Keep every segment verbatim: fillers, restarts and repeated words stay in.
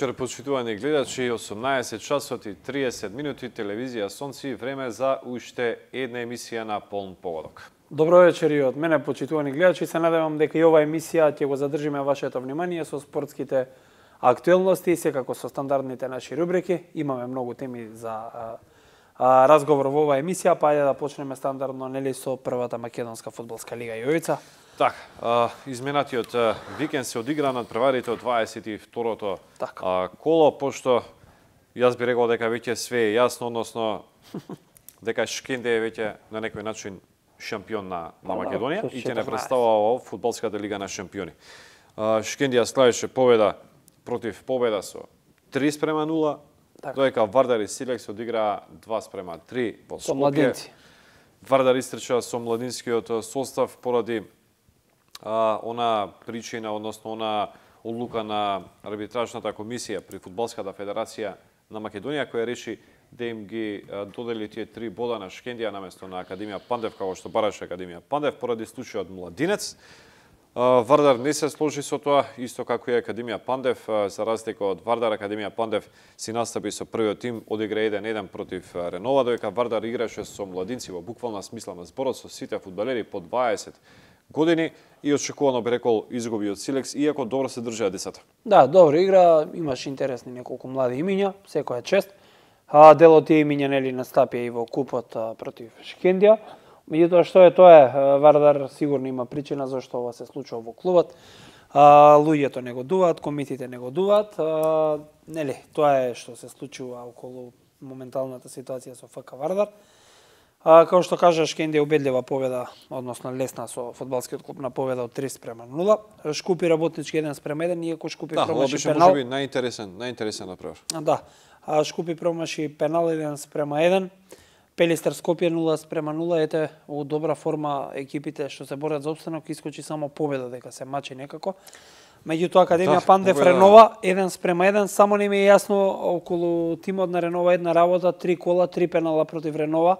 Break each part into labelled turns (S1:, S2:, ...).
S1: вечер, почитувани гледачи, осумнаесет часот и триесет минути, телевизија Сонци, време за уште една емисија на полн погодок.
S2: Добро вечер и од мене, почитувани гледачи. Се надевам дека и ова емисија ќе го задржиме вашето внимание со спортските актуелности, секако со стандардните наши рубрики. Имаме многу теми за а, а, разговор во оваа емисија, па ајде да почнеме стандардно нели со првата македонска фудбалска лига. Јовица.
S1: Так, изменатиот викенд се одигра над преварите од дваесет и второто коло, пошто јас би рекол дека веќе све е јасно, односно дека Шкенде е веќе на некој начин шампион на, на Македонија и ќе не представува во фудбалската лига на шампиони. Шкендија славеше победа против победа со три спрема нула, додека Вардар и Силекс одиграа два спрема три во Скопје. Вардар истрча со младинскиот состав поради А, она причина, односно она одлука на арбитражната комисија при Фудбалската федерација на Македонија, која реши да им ги додели тие три бода на Шкендија наместо на Академија Пандев, како што бараше Академија Пандев, поради случајот Младинец. А, Вардар не се сложи со тоа, исто како и Академија Пандев, за разлика од Вардар, Академија Пандев си настапи со првиот тим, одигра еден еден против Ренова, додека Вардар играше со младинци во буквална смисла на зборот, со сите фудбалери по дваесет години и очекувано би рекол изгуби од Силекс, иако добро се држаа децата.
S2: Да, добро игра, имаш интересни неколку млади имиња, секоја чест. А делот тие имиња нели настапија и во купот а, против Шкендија. Меѓутоа што е тоа е, Вардар сигурно има причина зашто ова се случува во клубот. А, луѓето не годуваат, комитите не годуваат, а, нели, тоа е што се случува околу моменталната ситуација со ФК Вардар. А, како што кажа, Шкендија убедлива победа, односно лесна со фудбалскиот клуб на победа од три спрема нула. Шкупи работнички еден спрема еден, иако Шкупи
S1: да,
S2: промаши
S1: пенал. Да, можеби најинтересен, најинтересен например.
S2: Да. А, Шкупи промаши пенал еден спрема еден. Пелистер Скопје нула спрема нула. Ете, во добра форма екипите што се борат за опстанок, искочи само победа дека се мачи некако. Меѓутоа Академија да, Пандев победа... Ренова еден спрема еден, само не ми е јасно околу тимот на Ренова една работа, три кола, три пенала против Ренова.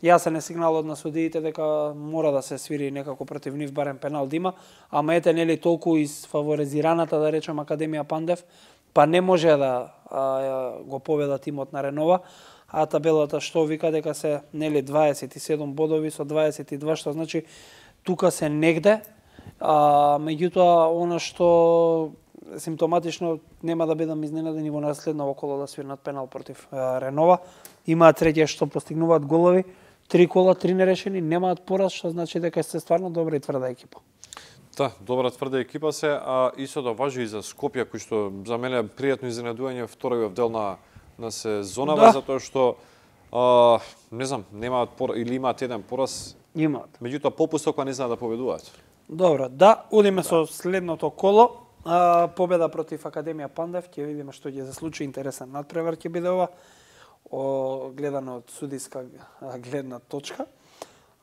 S2: Јасен е сигналот на судиите дека мора да се свири некако против нив, барем пенал да има, ама ете нели толку изфаворизираната, да речем, Академија Пандев, па не може да а, го победа тимот на Ренова, а табелата што вика дека се нели дваесет и седум бодови со дваесет и два, што значи тука се негде, а, меѓутоа она што симптоматично нема да бидам изненадени во наследно коло да свирнат пенал против а, Ренова. Имаат среќа што постигнуваат голови, три кола, три нерешени, немаат пораз, што значи дека се стварно добра и тврда екипа.
S1: Да, добра тврда екипа се, а истото важи и за Скопје, кој што за мене е пријатно изненадување вториот дел на на сезонава, да. Затоа што а, не знам, немаат пораз или имаат еден пораз.
S2: Имаат.
S1: Меѓутоа попуsto кога не знаат да победуваат.
S2: Добро, да, одиме да. Со следното коло. А, победа против Академија Пандев, ќе видиме што ќе се случи, интересен надпревар ќе биде ова. О, гледано од судиска гледна точка.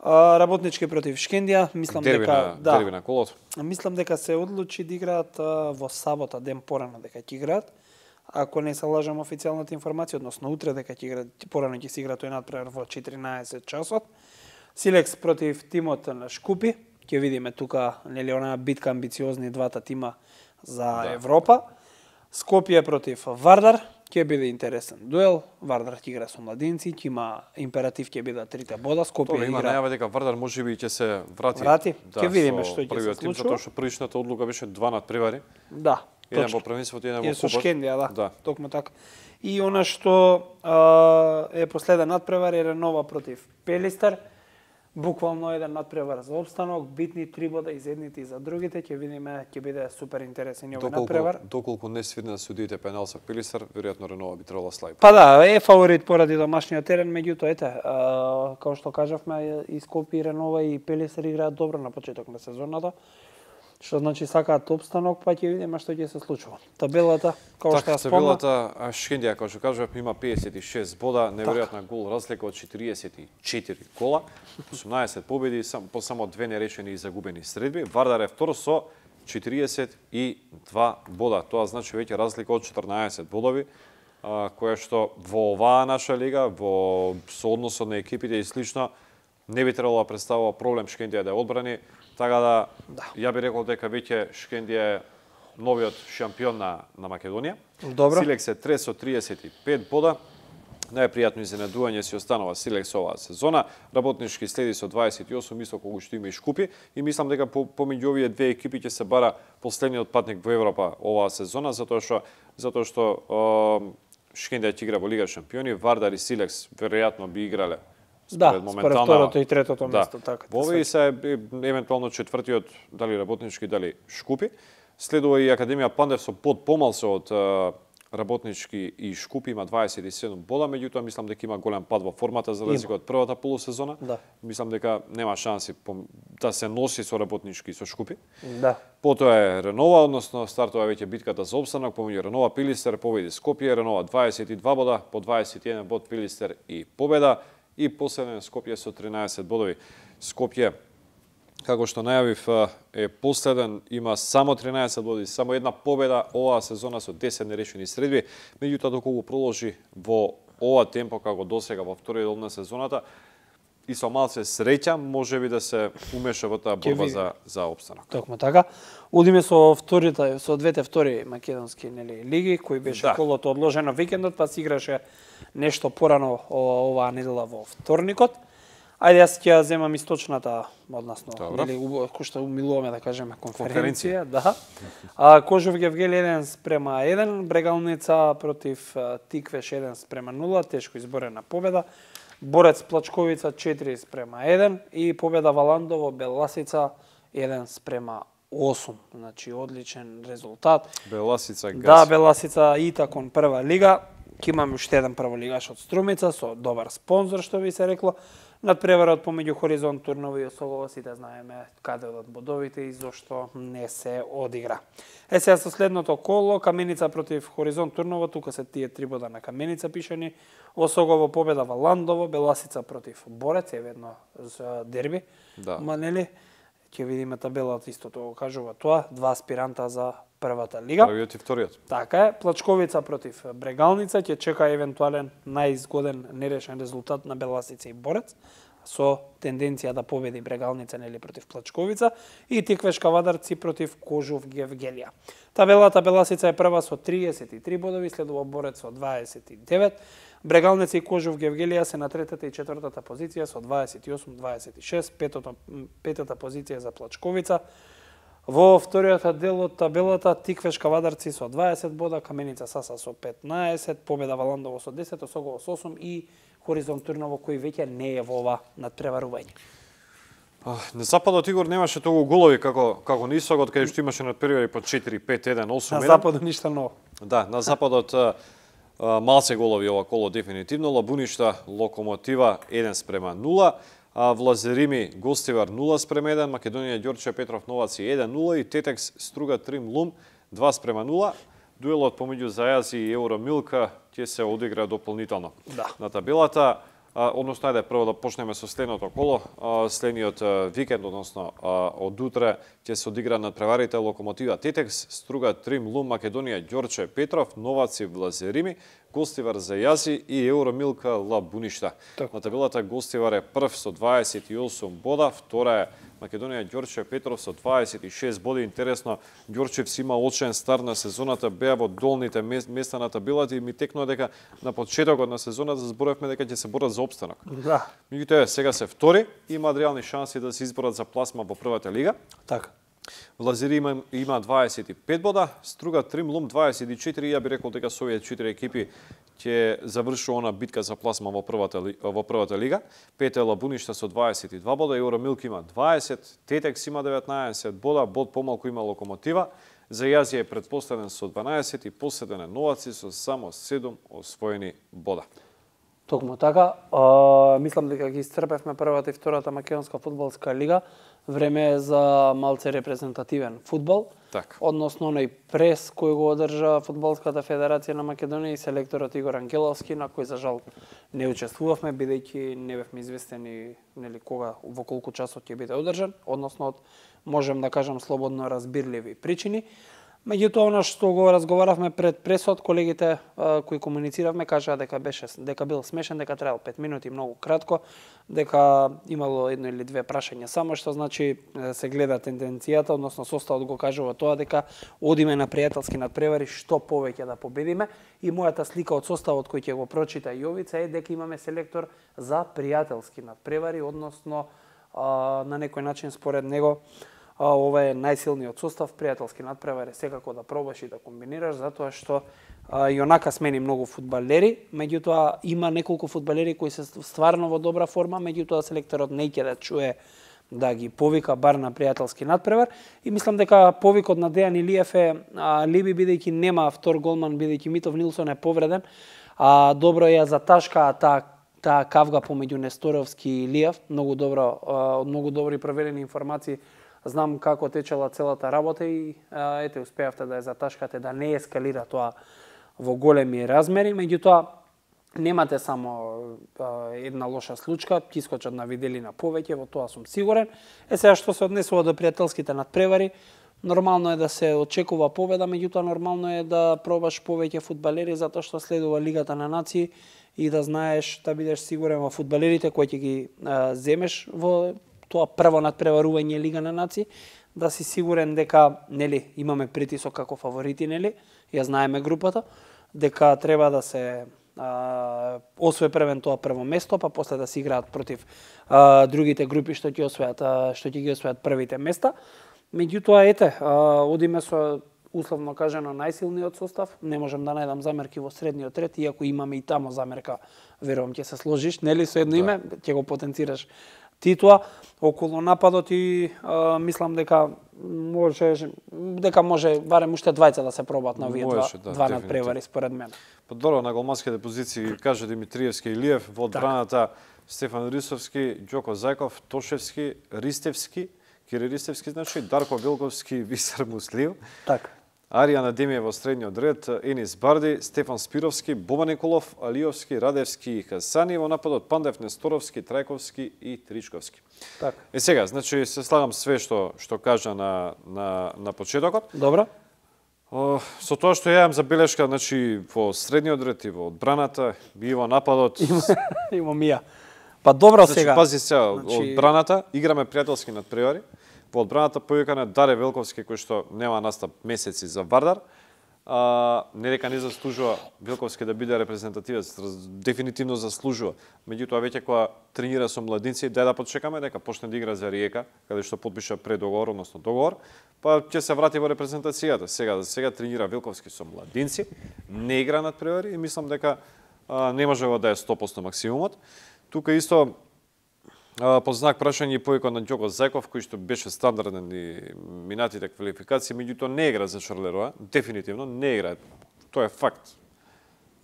S2: А, работнички против Шкендија, мислам
S1: дерби
S2: дека
S1: на,
S2: да.
S1: Дерби на колото.
S2: Мислам дека се одлучи да играат а, во сабота ден порано дека ќе играат. Ако не се лажам официјалната информација, односно утре дека ќе играат, порано ќе се играат тој надпревар во четиринаесет часот. Силекс против тимот на Шкупи, ќе видиме тука нели онаа битка амбициозни двата тима за да. Европа. Скопје против Вардар. Ќе биде интересен дуел. Вардар ќе игра со младинци, ќе има императив, ќе бидат трите бода. Скопје игра.
S1: Има најава дека Вардар можеби ќе се врати.
S2: Врати.
S1: Да,
S2: ќе видиме што ќе се случи.
S1: Затоа што првичната одлука беше два надпревари.
S2: Да.
S1: Еден во првенството, еден во
S2: купот. И со Шкендија, да.
S1: да.
S2: Токму така. И она што а, е последен надпревар е Ренова против Пелистер. Буквално еден надпревар за опстанок, битни три бода и за едните и за другите, ќе видиме, ќе биде супер интересен овој надпревар.
S1: Доколку не свирнат судиите пенал со Пелистер, веројатно Ренова би требало слаби.
S2: Па да, е фаворит поради домашниот терен, меѓутоа ете, а, како што кажавме, и Скопје, и Ренова и Пелистер играат добро на почеток на сезоната. Што значи сакаат опстанок, па ќе видиме што ќе се случува. Табелата, како што ја спомна,
S1: табелата Шкендија, како што кажав, има педесет и шест бода, неверојатна гол разлика од четириесет и четири кола, осумнаесет победи, по само две неречени и загубени средби. Вардар е втор со четириесет и два бода. Тоа значи веќе разлика од четрнаесет бодови, која што во оваа наша лига, во соодносот на екипите и слично, не би требало да представува проблем Шкендија да ја одбрани. Така да, да, ја би рекол дека веќе Шкендија е новиот шампион на, на Македонија.
S2: Добро.
S1: Силекс е трет со триесет и пет бода. Најпријатно изненадување си останува Силекс оваа сезона. Работнички следи со дваесет и осум, исто колку што има и Шкупи. И мислам дека по, помеѓу овие две екипи ќе се бара последниот патник во Европа оваа сезона, затоа што затоа што е, Шкендија ќе игра во Лига шампиони, Вардар и Силекс веројатно би играле
S2: според да, според второто и третото
S1: да,
S2: место, така.
S1: Во овие се евентуално четвртиот, дали Работнички, дали Шкупи. Следува и Академија Пандев со под помалку од Работнички и Шкупи, има дваесет и седум бода, меѓутоа мислам дека има голем пад во формата за разлика од првата полусезона.
S2: Да.
S1: Мислам дека нема шанси да се носи со Работнички и со Шкупи.
S2: Да.
S1: Потоа е Ренова, односно стартува веќе битката за опстанок помеѓу Ренова, Пилистер, победи Скопје, Ренова дваесет и два бода, по дваесет и еден бод Пилистер и победа и последен Скопје со тринаесет бодови. Скопје, како што најавив, е последен, има само тринаесет боди, само една победа оваа сезона со десет нерешени средби. Меѓутоа, доколку продолжи во ова темпо како досега во вториот дел на сезоната, и со малце среќа можеби да се умеша во таа борба за за опстанок.
S2: Токму така. Одиме со вторите, со двете втори македонски нели лиги, кои беше да. Колото одложено викендот, па се играше нешто порано оваа недела во вторникот. Ајде, јас ќе ја земам источната, односно, нели, кој што умилуваме да кажеме конференција, конференција. Да. А, Кожов Гевгели еден спрема еден, Брегалница против Тиквеш еден спрема нула, тешко изборена победа. Борец Плачковица четири спрема еден и победа Валандово Беласица еден спрема осум. Значи одличен резултат.
S1: Беласица газ.
S2: Да, Беласица и такон прва лига. Ќе имаме уште еден прволигаш од Струмица со добар спонзор, што би се рекло. Надпреварот помеѓу Хоризонт Турново и Осогово, сите знаеме каде одат бодовите и зошто не се одигра. Е сега со следното коло, Каменица против Хоризонт Турново, тука се тие три бода на Каменица пишани. Осогово победа Валандово, Беласица против Борец, е ведно за дерби.
S1: Да.
S2: Ма нели, ќе видиме табелата, истото го кажува тоа, два аспиранта за првата лига.
S1: Првиот и вториот.
S2: Така е, Плачковица против Брегалница, ќе чека евентуален најизгоден нерешен резултат на Беласица и Борец, со тенденција да победи Брегалница нели против Плачковица, и Тиквешка Вадарци против Кожов Гевгелија. Табелата Беласица е прва со триесет и три бодови, следува Борец со дваесет и девет. Брегалница и Кожов Гевгелија се на третата и четвртата позиција со дваесет и осум дваесет и шест, петата, петата позиција за Плачковица. Во вториот дел од табелата Тиквешка Вадарци со дваесет бода, Каменица Саса со петнаесет, победа Валандово со десет, Осогово со осум и Хоризонт Турново кој веќе не е во ова надпреварување.
S1: На западот Игор немаше толку голови како како на истокот, каде што имаше надпревари по четири пет еден осум еден.
S2: На западот ништо ново.
S1: Да, на западот малце голови ова коло дефинитивно. Лабуништа Локомотива еден спрема нула. Влазерими Гостивар нула спрема еден, Македонија Ѓорче Петров Новаци еден нула и Тетекс Струга Трим Лум два спрема нула. Дуелот помеѓу Зајази и Евромилка ќе се одигра дополнително.
S2: Да.
S1: На табелата, односно ајде прво да почнеме со следното коло. Следниот викенд, односно од утре ќе се одигра надпреварите Локомотива Тетекс, Струга Трим Лум, Македонија Ѓорче Петров, Новаци Влазерими, Гостивар Зајази и Евромилка Лабуништа. На табелата Гостивар е прв со дваесет и осум бода, втора е Македонија Ѓорче Петров со дваесет и шест боди. Интересно, Ѓорчев има очен старт на сезоната, беа во долните места на табелата и ми текнува дека на почетокот на сезоната зборевме дека ќе се борат за опстанок.
S2: Да.
S1: Меѓутоа сега се втори и има реални шанси да се изборат за пласма во првата лига.
S2: Така.
S1: Влазери има, има дваесет и пет бода, Струга Трим Лум дваесет и четири, ја би рекол дека со овие четири екипи ќе завршува она битка за пласма во првата во првата лига. Пете Лабуништа со дваесет и два бода, Евромилк има дваесет, Тетекс има деветнаесет бода, бод помалку има Локомотива. Зајази е предпоследен со дванаесет и последен е Новаци со само седум освоени бода.
S2: Токму така, а, мислам дека ги исцрпевме првата и втората македонска фудбалска лига. Време е за малце репрезентативен фудбал.
S1: Так.
S2: Односно оној прес кој го одржа Фудбалската федерација на Македонија и селекторот Игор Ангеловски, на кој за жал не учествувавме, бидејќи не бевме известени нели кога во колку часот ќе биде одржан, односно од можем да кажам слободно разбирливи причини. Меѓутоа, она што го разговаравме пред пресот, колегите а, кои комунициравме кажаа дека беше дека бил смешен, дека требал пет минути, многу кратко, дека имало едно или две прашања само, што значи се гледа тенденцијата, односно составот го кажува тоа дека одиме на пријателски надпревари, што повеќе да победиме, и мојата слика од составот кој ќе го прочита Јовица е дека имаме селектор за пријателски надпревари, односно а, на некој начин според него А, ова е најсилниот состав, пријателски надпревари, секако да пробаш и да комбинираш, затоа што а, и онака смени многу фудбалери, меѓутоа има неколку фудбалери кои се стварно во добра форма, меѓутоа селекторот не ќе да чуе да ги повика бар на пријателски надпревар, и мислам дека повикот на Дејан Илиев е а, Либи, бидејќи нема втор голман, бидејќи Митов Нилсон е повреден, а добро ја заташкаа таа таа кавга помеѓу Несторовски и Илиев, многу добро, од многу добри проверени информации. Знам како течела целата работа и а, ете, успеавте да ја заташкате, да не ескалира тоа во големи размери, меѓутоа немате само а, една лоша случка, ќе искочат на виделина повеќе, во тоа сум сигурен. Е сега што се однесува до пријателските надпревари, нормално е да се очекува победа, меѓутоа нормално е да пробаш повеќе фудбалери, затоа што следува Лигата на нации и да знаеш, да бидеш сигурен во фудбалерите кои ќе ги а, земеш во тоа прво надпреварување Лига на нации, да си сигурен дека, нели, имаме притисок како фаворити, нели, ја знаеме групата, дека треба да се а, освои првен тоа прво место, па после да се играат против а, другите групи што ќе освојат, а, што ќе ги освојат првите места. Меѓутоа, ете, а, одиме со условно кажано најсилниот состав, не можам да најдам замерки во средниот ред, иако имаме и тамо замерка, верувам ќе се сложиш, нели, со едно да. име, ќе го потенцираш Титуа. Околу нападот и а, мислам дека може дека може барем уште двајца да се пробат на овие два, да, два надпревари според мене.
S1: Па добро, на голманските позиции каже Димитриевски и Илиев, во одбраната Стефан Рисовски, Ѓоко Зајков, Тошевски, Ристевски, Кири Ристевски, значи Дарко Вилковски, Висар Муслив.
S2: Така.
S1: Арија Надемија во средниот ред, Енис Барди, Стефан Спировски, Боба Николов, Алиовски, Радевски и Хасани, во нападот Пандев, Несторовски, Трајковски и Тричковски.
S2: Така.
S1: Е сега, значи се слагам све што што кажа на на на почетокот.
S2: Добро.
S1: О, со тоа што ја имам забелешка, значи во средниот ред и во одбраната и во нападот.
S2: Има мија. Па добро
S1: значи,
S2: сега.
S1: Пази се,
S2: значи...
S1: одбраната играме пријателски надпревари. Во одбраната повикане Даре Велковски, кој што нема настап месеци за Вардар. А, не дека не заслужува Велковски да биде репрезентативец, дефинитивно заслужува. Меѓутоа, веќе кога тренира со младинци, дај да почекаме дека почне да игра за Риека, каде што подпиша предоговор, односно договор, па ќе се врати во репрезентацијата. Сега, сега тренира Велковски со младинци, не игра надпревари и мислам дека а, не може да е сто проценти максимумот. Тука исто под знак прашање и повикот на Ѓоко Зајков, кој што беше стандарден и минатите квалификации, меѓутоа не игра за Шарлероа, дефинитивно не игра. Тоа е факт.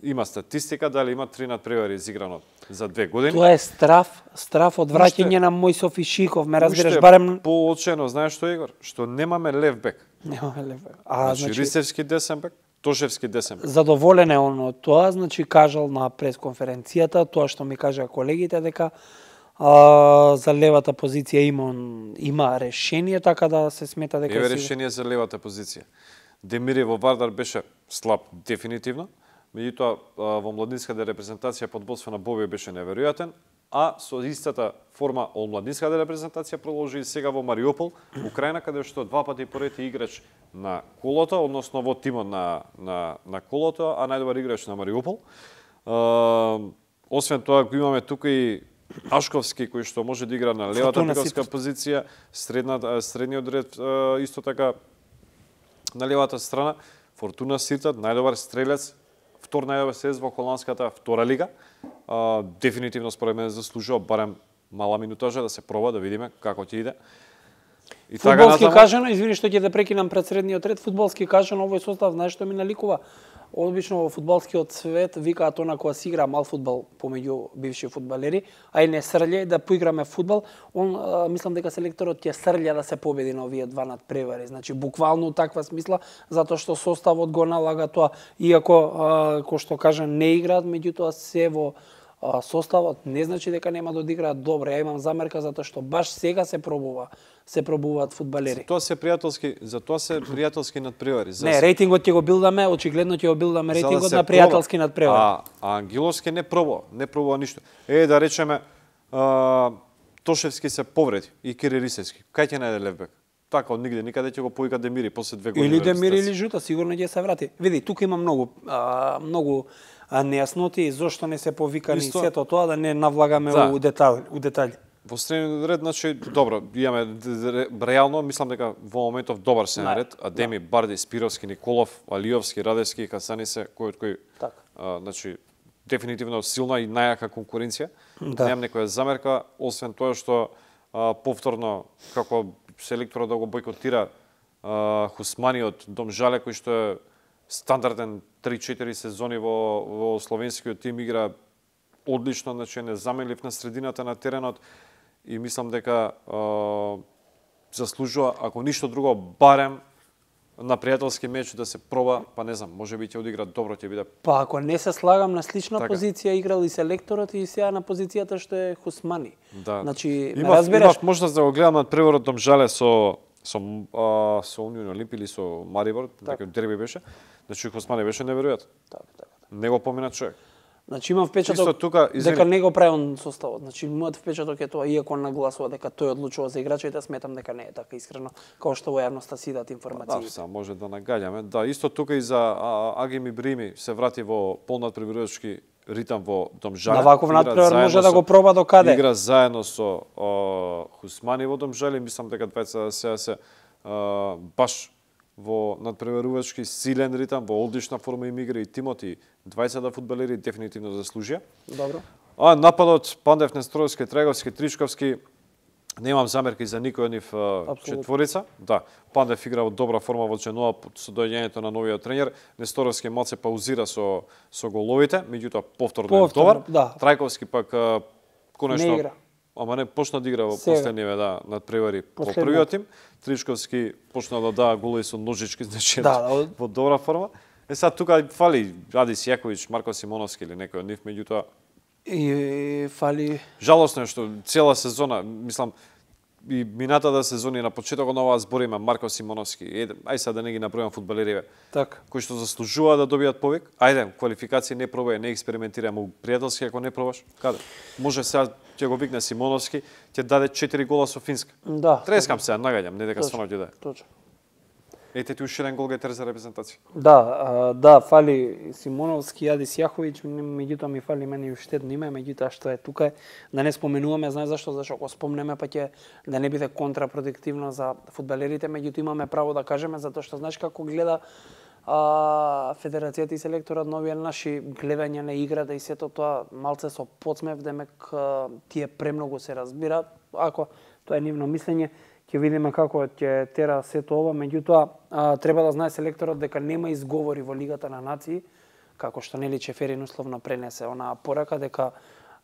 S1: Има статистика дали има три надпревари изиграно за две години.
S2: Тоа е страф, страф од враќање на Мојсов и Шиков, ме разбираш барем
S1: поочено, знаеш што Игор, што немаме лев бек.
S2: Немаме лев бек. А
S1: значи, значи Ристевски десен бек, Тошевски десен бек.
S2: Задоволен е он од тоа, значи кажал на пресконференцијата тоа што ми кажа колегите дека А, за левата позиција има има решение, така да се смета дека
S1: Еве решение за левата позиција. Демири во Вардар беше слаб дефинитивно, меѓутоа во младинската репрезентација под водство на Боби беше неверојатен, а со истата форма од младинската репрезентација продолжи и сега во Мариупол, Украина, каде што два пати поред е играч на колото, односно во тимот на на на колото, а најдобар играч на Мариупол. А, освен тоа го имаме тука и Ашковски, кој што може да игра на левата бековска позиција, средна, средниот ред исто така на левата страна. Фортуна Сиртат, најдобар стрелец, втор најдобар стрелец во холандската втора лига. А, дефинитивно според мене заслужува барем мала минутажа да се проба, да видиме како ќе иде.
S2: И фудбалски така кажано, извини што ќе да прекинам пред средниот ред, фудбалски кажано овој состав, знаеш што ми наликува? Обично во фудбалскиот свет викаат она кога се игра мал фудбал помеѓу бивши фудбалери, а и не срље да поиграме фудбал, он а, мислам дека селекторот ќе срља да се победи на овие два надпревари. Значи буквално таква смисла, затоа што составот го налага тоа, иако а, кој што кажа не играат, меѓутоа се во составот, не значи дека нема да одиграат добро. Ја имам замерка затоа што баш сега се пробува, се пробуваат фудбалери.
S1: Тоа се пријателски, за тоа се пријателски надпревари.
S2: Не, рейтингот ќе го билдаме, очигледно ќе го билдаме рейтингот
S1: да
S2: на пријателски надпревари.
S1: А, а Ангиловски не пробува, не пробува ништо. Е, да речеме, а, Тошевски се повреди и Киририсевски. Кај ќе најде левбек? Така, од нигде, никаде ќе го повика Демири после две години.
S2: Или Демири или Жута, сигурно ќе се врати. Види, тука има многу, а, многу а, нејасноти, зошто не се повикани Исто... сето тоа, да не навлагаме да. у детали, у детали.
S1: Во среден ред, значи, добро, имаме реално, мислам дека во моментов добар се на ред, Адеми, да. Барди, Спировски, Николов, Алиовски, Радевски, Хасани се, кој од кој, так. а, значи, дефинитивно силна и најака конкуренција. Да. Немам некоја замерка, освен тоа што а, повторно, како селекторот да го бойкотира а, Хусмани од Домжале, кој што е стандарден три-четири сезони во, во словенскиот тим, игра одлично, значи не заменлив на средината на теренот и мислам дека а, заслужува, ако ништо друго, барем на пријателски меч да се проба, па не знам, може би ќе одигра добро, ќе биде.
S2: Па ако не се слагам на слична така. Позиција играл и селекторот и сега на позицијата што е Хусмани.
S1: Да.
S2: Значи,
S1: имав,
S2: разбираш,
S1: имав можност да го гледам над преворот Домжале со со а, со Унион Олимпи или со Марибор, така дерби беше. Значи Хусмани беше неверојатен.
S2: Така, така.
S1: Не го помина човек.
S2: Значи имам впечаток
S1: тука,
S2: дека не го прави он составот. Значи мојот впечаток е тоа, иако нагласува дека тој одлучува за играчите, сметам дека не е така искрено, како што во јавноста си дат информации.
S1: Да, са, може да нагаѓаме. Да, исто тука и за Агими Брими се врати во полнадпреварувачки ритам во Домжале.
S2: На ваков надпревар може да го проба до каде?
S1: Игра заедно со о, Хусмани во Домжале, мислам дека двајца сега се о, баш во надпреварувачки силен ритам, во одлична форма им игра и тимот и двајцата фудбалери дефинитивно заслужија.
S2: Добро.
S1: А нападот Пандев, Несторовски, Треговски, Тричковски, немам замерки за никој од нив четворица. Да, Пандев игра во добра форма во Дженуа со доаѓањето на новиот тренер. Несторовски малце паузира со со головите, меѓутоа повторно е добар.
S2: Да.
S1: Трајковски пак конечно
S2: не игра.
S1: Ама не почна да игра во последниве да надпревари по првиот тим. Тричковски почна да даа голови со ножички, значи да, да, во добра форма. Е сега тука фали Адис Јаковиќ, Марко Симоновски или некој од нив, меѓутоа
S2: и фали.
S1: Жалосно е што цела сезона, мислам, и минатата сезони на почетокот на оваа збор има Марко Симоновски. Еден, ај сега да не ги набројам фудбалериве.
S2: Така.
S1: Кои што заслужуваат да добијат повик. Ајде, квалификации не пробај, не експериментирај, му пријателски ако не пробаш. Каде? Може сега ќе го викне Симоновски, ќе даде четири гола со Финска.
S2: Да.
S1: Трескам сега, нагаѓам, не дека стварно ќе даде.
S2: Точно.
S1: Ете ти уште еден гол гетер за репрезентација.
S2: Да, а, да, фали Симоновски, Адис Јаховиќ, меѓутоа ми фали мене уште едно име, меѓутоа што е тука, да не споменуваме, знаеш зашто, зашто ако спомнеме па ќе да не биде контрапродуктивно за фудбалерите, меѓутоа имаме право да кажеме затоа што знаеш како гледа а, федерацијата и селекторот на овие наши гледања на играта и сето тоа малце со подсмев, демек тие премногу се разбираат, ако тоа е нивно мислење. Ќе видиме како ќе тера сето ова, меѓутоа треба да знае селекторот дека нема изговори во Лигата на нации, како што нели Чеферин условно пренесе онаа порака дека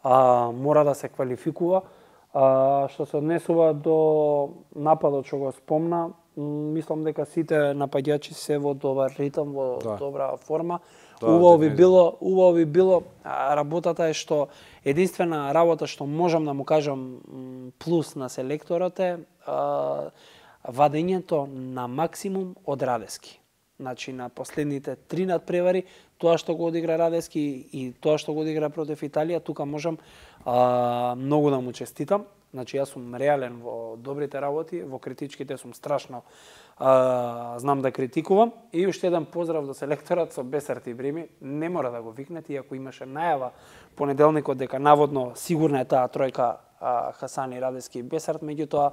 S2: а, мора да се квалификува. А, што се однесува до нападот што го спомна, мислам дека сите напаѓачи се во добар ритам, во да. добра форма. Да, убаво би било, убаво би било, работата е што единствена работа што можам да му кажам плюс на селекторот е а, вадењето на максимум од Радевски. Значи на последните три надпревари, тоа што го одигра Радевски и тоа што го одигра против Италија, тука можам а, многу да му честитам. Значи јас сум реален во добрите работи, во критичките сум страшно а, знам да критикувам. И уште еден поздрав до селекторот со Бесарт и Брими. Не мора да го викнете, иако имаше најава понеделникот дека наводно сигурна е таа тројка а, Хасани, Радевски и Бесарт, меѓутоа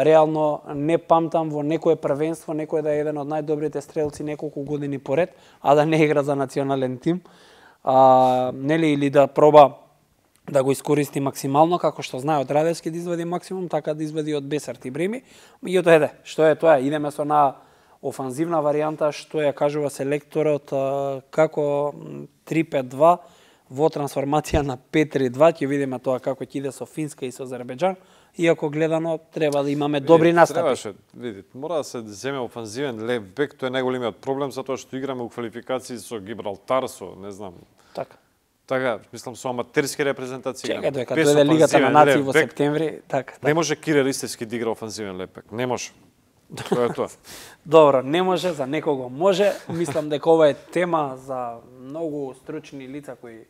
S2: реално не памтам во некое првенство некој да е еден од најдобрите стрелци неколку години поред, а да не игра за национален тим. А, нели или да проба да го искористи максимално, како што знае од Радевски да извади максимум, така да извади од Бесарт и Брими. Меѓутоа еде, што е тоа? Идеме со на офанзивна варијанта, што ја кажува селекторот како три пет два во трансформација на пет три два, ќе видиме тоа како ќе иде со Финска и со Азербејџан. Иако гледано треба да имаме добри настапи.
S1: Требаше, видите, мора да се земе офанзивен лев бек, тоа е најголемиот проблем затоа што играме у квалификации со Гибралтар, со не знам.
S2: Така.
S1: Така, мислам со аматерски репрезентации.
S2: Чекај дека дојде Лигата на нации во септември, така.
S1: Не може Кире Ристевски да игра офанзивен лепек. Не може. Тоа е тоа.
S2: Добро, не може, за некого може. Мислам дека ова е тема за многу стручни лица кои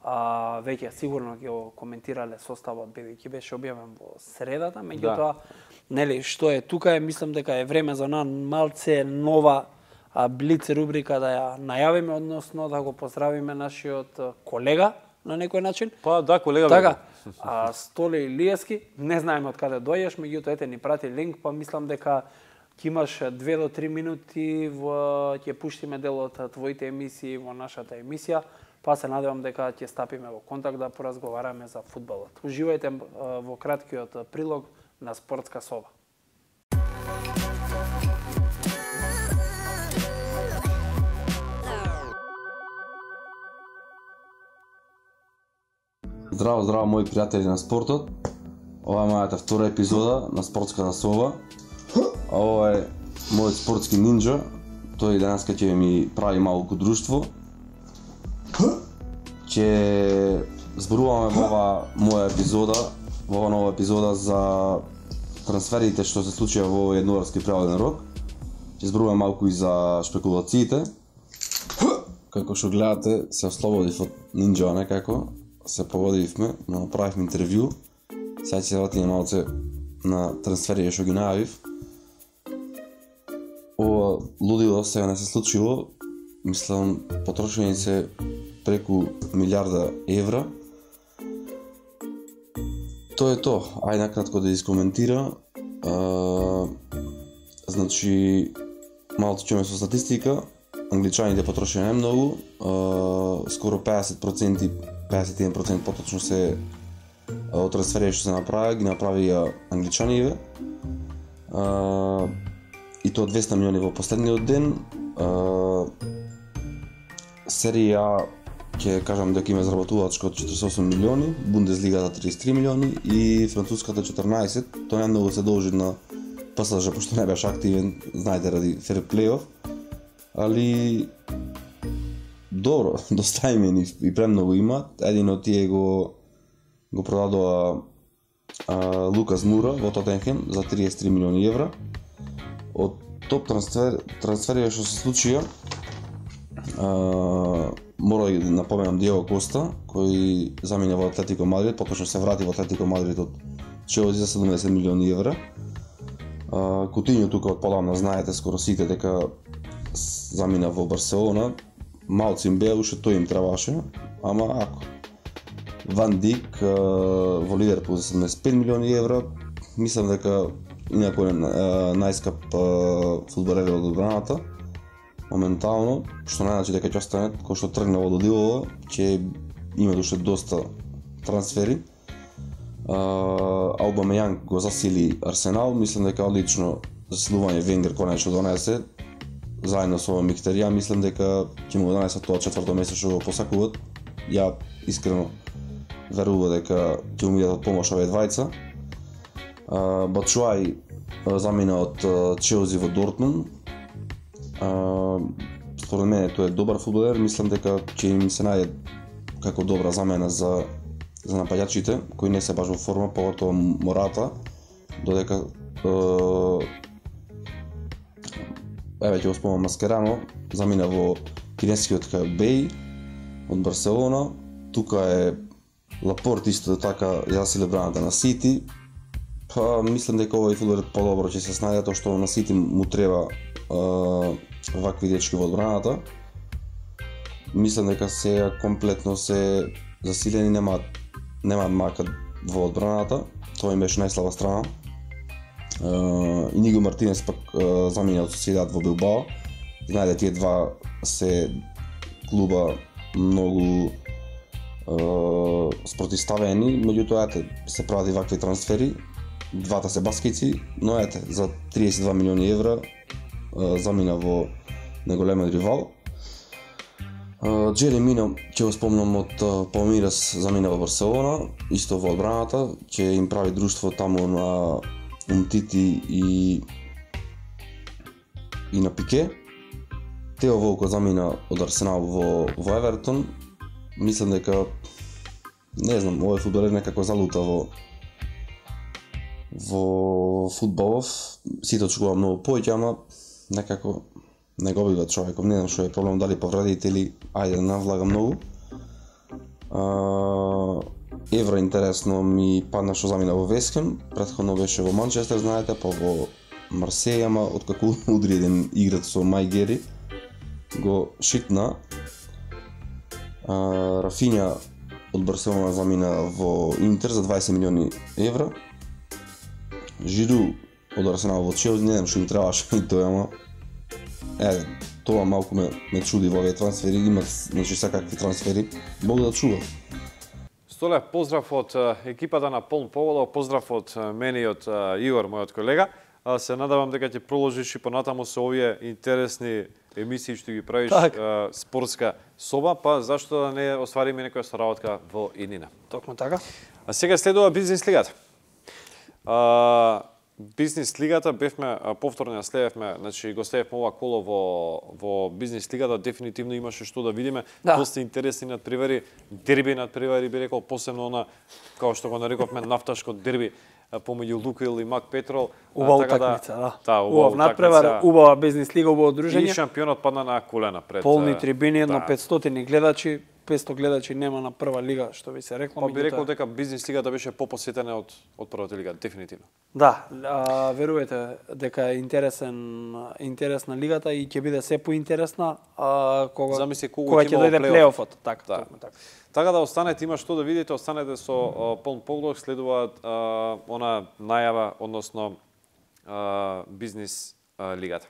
S2: а, веќе сигурно ќе го коментирале составот, бидејќи беше објавен во средата, меѓутоа, да. Нели, што е тука е, мислам дека е време за една малце нова а, блиц рубрика да ја најавиме, односно да го поздравиме нашиот колега на некој начин.
S1: Па да, колега.
S2: Така, а, Столи Илиевски, не знаеме од каде дојдеш, меѓутоа ете ни прати линк, па мислам дека ќе имаш две до три минути во ќе пуштиме дел од твоите емисии во нашата емисија, па се надевам дека ќе стапиме во контакт да поразговараме за фудбалот. Уживајте во краткиот прилог на Спортска соба.
S3: Здраво, здраво, мои пријатели на спортот. Ова е мојата втора епизода на Спортската соба. А ова е мојот спортски нинџа. Тој денеска ќе ми прави малку друштво. Ќе зборуваме во ова моја епизода, во ова нова епизода за трансферите што се случија во овој јануарски преводен рок. Ќе зборуваме малку и за шпекулациите. Како што гледате, се ослободив од нинџа, некако. Се поводивме, но направивме интервју. Сега ќе се вратиме малце на трансферите што ги најавив. Ова лудило сега не се случило. Мислам, потрошени се преку милиарда евра. Тоа е тоа. Ајде накратко да искоментира. А, значи, малку чуме со статистика. Англичаните потрошени најмногу. А, скоро педесет проценти педесет и еден процент поточно се од трансферите што се направи, ги направија англичаниве. А, и тоа двесте милиони во последниот ден. А, Серија А ќе кажам дека има заработувачка од четириесет и осум милиони, Бундеслигата триесет и три милиони и француската четрнаесет. Тоа не многу се должи на ПСЖ, пошто не беше активен, знаете, ради ферплејов. Али добро, доста имени и премногу имаат. Един од тие го го продадоа а, Лукас Мура во Тоттенхем за триесет и три милиони евра. Од топ трансфер трансферите што се случија, а, мора да напоменам Диего Коста, кој замина во Атлетико Мадрид, поточно се врати во Атлетико Мадрид од Челси за седумдесет милиони евра. А, Кутињо тука од подамна знаете скоро сите дека замина во Барселона. Малци им беа, уште тој им требаше, ама ако. Ван Дик во Ливерпул за седумдесет и пет милиони евра, мислам дека инако е најскап фудбалер од одбраната. Моментално, што не значи дека ќе остане, кој што тргна во Додилова, ќе има уште доста трансфери. Аубамејанг го засили Арсенал, мислам дека одлично заsilување Венгер конечно донесе. Заедно со Михтарија, мислам дека ќе му донесат тоа четврто место што го посакуваат. Ја искрено верувам дека ќе му бидат од помош овие двајца. Бачуај замина од Челси во Дортмунд. Според мене тој е добар фудбалер, мислам дека ќе им се најде како добра замена за за напаѓачите кои не се баш во форма, поготово Мората, додека еве ќе го спомнам Маскерано, замина во кинескиот Беј од Барселона. Тука е Лапорт исто така засили браната на Сити. Па мислам дека овој фудбалер подобро ќе се снајде, тоа што на Сити му треба а, вакви дечки во одбраната. Мислам дека сега комплетно се засилени, немаат немаат мака во одбраната. Тоа им беше најслаба страна. Uh, Иниго Мартинес пак uh, замина од Соседат во Билбао. Знаете, тие два се клуба многу uh, спротивставени, меѓутоа ете се прават вакви трансфери. Двата се баскици, но ете за триесет и два милиони евра uh, замина во неголемен ривал. Uh, Джери Мино ќе го спомнам од uh, Палмирас, замина во Барселона, исто во одбраната, ќе им прави друштво таму на Умтити и и на Пике. Тео Волко замина од Арсенал во во Евертон. мислам дека не знам, овој фудбалер некако залута во во фудбалов, сите очекува многу повеќе, ама некако не го бива човеков, не знам што е проблем, дали повредите или ајде да навлага многу. А, Евра интересно ми падна што замина во Весхем, претходно беше во Манчестер, знаете, па во Марсеј, ама откако удри еден играч со Мајгери, го шитна. А, Рафиња од Барселона замина во Интер за дваесет милиони евра. Жиру од Арсенал во Челси, не знам што им требаше и тоа, ама е, тоа малку ме, ме чуди во овие трансфери, имат, значи, секакви трансфери, Бог да чува.
S1: Столе, поздрав од екипата на Полн Поволов, поздрав од мене и од Игор, мојот колега. Се надавам дека ќе продолжиш и понатаму со овие интересни емисии што ги правиш,
S2: так.
S1: спортска соба, па зашто да не оствариме некоја соработка во иднина.
S2: Токму така.
S1: А сега следува бизнес лигата. А, бизнес лигата бевме повторно ја следевме, значи го следевме ова коло во во бизнес лигата, дефинитивно имаше што да видиме,
S2: да.
S1: Доста интересни надпревари, дерби надпревари би рекол, посебно на како што го нарековме нафташко дерби помеѓу Лукойл и Мак Петрол.
S2: Убава утакмица, да.
S1: Да,
S2: убава надпревар, убава бизнес лига, убаво дружење.
S1: И шампионот падна на колена пред
S2: полни трибини, едно
S1: да.
S2: петстотини гледачи, петсто гледачи нема на прва лига, што би се рекло.
S1: Па би рекол дека бизнес лигата беше попосетена од од првата лига, дефинитивно.
S2: Да, а, верувате дека е интересен интересна лигата и ќе биде се поинтересна, а кога
S1: Замисли, кога,
S2: кога ќе дојде плейофот, така,
S1: да.
S2: токму така.
S1: Така да останете, има што да видите, останете со Полн Поволов, следуваат она најава, односно а, бизнес а, лигата.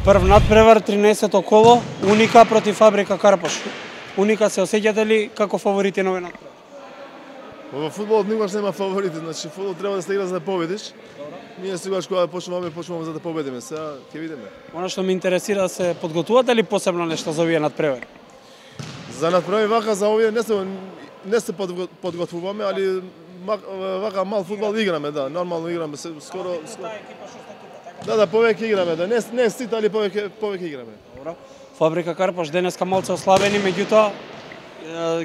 S2: Прв надпревар, тринаесетто коло, Уника против Фабрика Карпош. Уника се осеќате ли како фаворити на овој надпревар?
S4: Во фудбалот никогаш нема фаворити, значи фудбал треба да се игра за да победиш. Ние сегаш кога почнуваме, почнуваме за да победиме, сега ќе видиме.
S2: Она што ме интересира, се подготвувате ли посебно нешто за овие надпревари?
S4: За надпревари вака за овие не се не се подготвуваме, али вака мал фудбал играме, да, нормално играме, скоро скоро. Да, да, повеќе играме, да, не не сите, али повеќе повеќе играме.
S2: Добро. Фабрика Карпош денеска малце ослабени, меѓутоа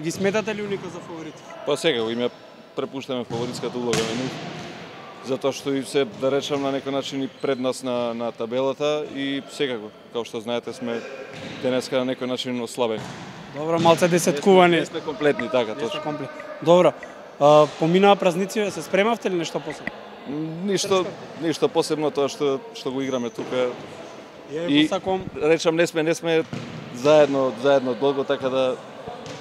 S2: ги сметате ли Уника за фаворити?
S5: Па сега го име препуштаме фаворитската улога на нив, затоа што и се, да речам, на некој начин и пред нас на, на табелата и секако, како што знаете, сме денеска на некој начин ослабени.
S2: Добро, малце десеткувани.
S5: Не сме комплетни, така,
S2: Не сте
S5: точно.
S2: комплет. Добро. А, поминаа празници, се спремавте ли нешто посебно?
S5: Ништо, ништо посебно тоа што што го играме тука.
S2: Ја
S5: И
S2: посакувам
S5: речам, не сме не сме заедно заедно долго, така да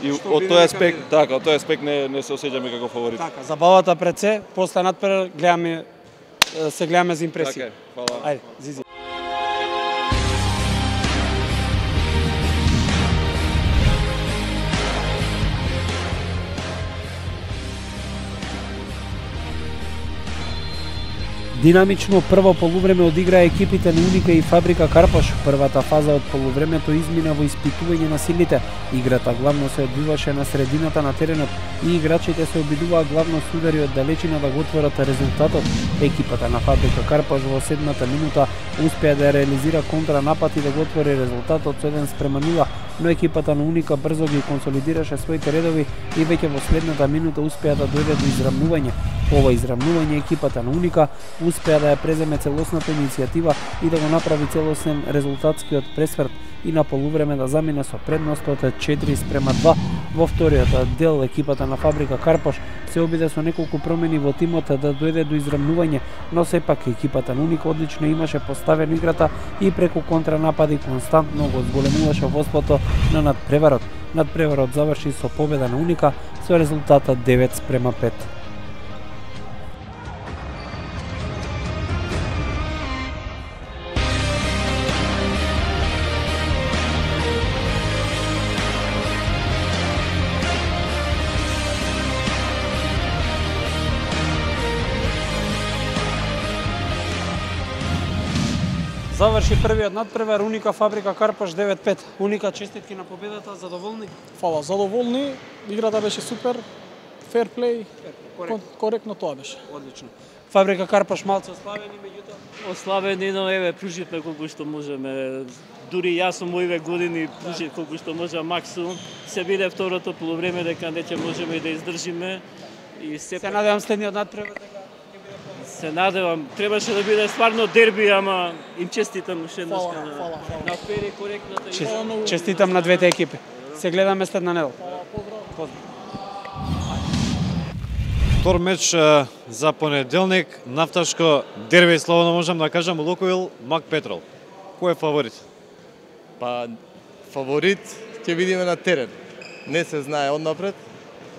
S5: и
S2: Што
S5: од
S2: биде,
S5: тој
S2: нека
S5: аспект,
S2: биде.
S5: така, од тој аспект не не се осеќаме како фаворити.
S2: така, забавата пред се, после надпревар гледаме е, се гледаме за импресија.
S5: Така е, фала.
S2: Ајде, Зизи. Динамично прво полувреме одиграа екипите на Уника и Фабрика Карпош. Првата фаза од полувремето измина во испитување на силите. Играта главно се одвиваше на средината на теренот и играчите се обидуваа главно с удари од далечина да го отворат резултатот. Екипата на Фабрика Карпош во седмата минута успеа да реализира контранапад и да го отвори резултатот со еден спрема нула, но екипата на Уника брзо ги консолидираше своите редови и веќе во следната минута успеа да дојде до израмнување. Ова израмнување екипата на Уника успеа да ја преземе целосната иницијатива и да го направи целосен резултатскиот пресврт и на полувреме да замине со предност од четири спрема два Во вториот дел екипата на Фабрика Карпош се обиде со неколку промени во тимот да дојде до израмнување, но сепак екипата на Уника одлично имаше поставено играта и преку контранапади константно го зголемуваше водството на надпреварот. Надпреварот заврши со победа на Уника со резултатот девет спрема пет. Заврши првиот надпревар Уника Фабрика Карпош девет пет. Уника, честитки на победата, задоволни?
S6: Фала, задоволни. Играта беше супер, фер плей,
S2: Коректно.
S6: коректно тоа беше.
S2: Одлично. Фабрика Карпош малце ослабени, меѓутоа
S7: Ослабени, но еве пруживме колку што можеме. Дури јас сум овие години пружив колку што може максимум. Се биде второто полувреме дека не ќе можеме и да издржиме. И се
S2: се надевам следниот надпревар дека
S7: се надевам, требаше да биде стварно дерби, ама им честитам уште еднаш
S6: Фала,
S7: на
S6: фала, фала.
S7: на Пери коректната
S2: Чест-
S7: игра.
S2: честитам на двете екипи. Се гледаме следна недела.
S1: Втор меч е, за понеделник, нафташко дерби, слободно можам да кажам, Лукоил, Мак Петрол. Кој е фаворит?
S8: Па фаворит ќе видиме на терен. Не се знае однапред.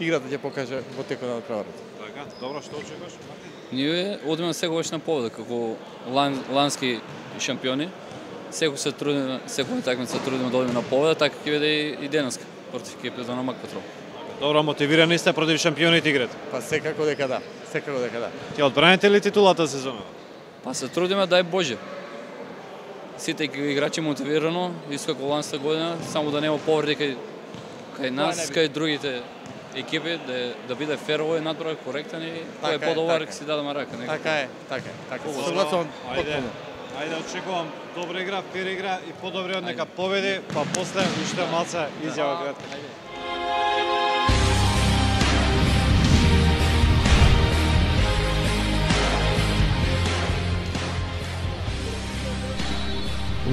S8: Играта ќе покаже во текот на надпреварот.
S1: Така, добро, што очекуваш?
S9: Ние одиме секогаш на победа како лан, лански шампиони. Секој се трудиме, секој такмица се трудиме да одиме на победа, така ќе биде и, и денеска против екипата на Мак Петрол.
S1: Добро, мотивирани сте против шампионите играт.
S8: Па секако дека да, секако дека да.
S1: Ќе одбраните ли титулата сезона?
S9: Па се трудиме, дај Боже. Сите играчи мотивирано, исто како ланската година, само да нема повреди кај кај нас, кај другите екипи, да, да биде фер овој надпревар, коректен и кој е
S8: Така е,
S9: подобар,
S8: така е.
S9: си дадеме рака. некако.
S8: Така е, така е, така е.
S1: Добро,
S8: Согласувам
S1: ајде,
S8: потпуно.
S1: ајде очекувам добра игра, фер игра и подобри од нека победи, па после уште малце изјава кратка.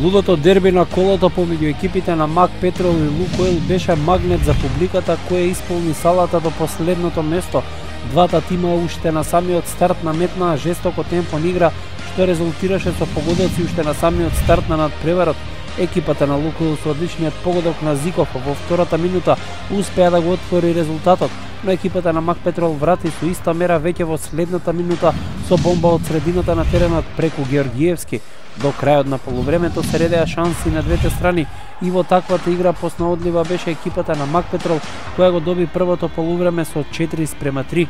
S2: Лудото дерби на колото помеѓу екипите на Мак Петрол и Лукоил беше магнет за публиката која исполни салата до последното место. Двата тима уште на самиот старт наметнаа жестоко темпо на игра, што резултираше со погодоци уште на самиот старт на надпреварот. Екипата на Лукоил со одличниот погодок на Зиков во втората минута успеа да го отвори резултатот, но екипата на Мак Петрол врати со иста мера веќе во следната минута со бомба од средината на теренот преку Георгиевски. До крајот на полувремето се редеа шанси на двете страни и во таквата игра поснаодлива беше екипата на Мак Петрол која го доби првото полувреме со четири спрема три.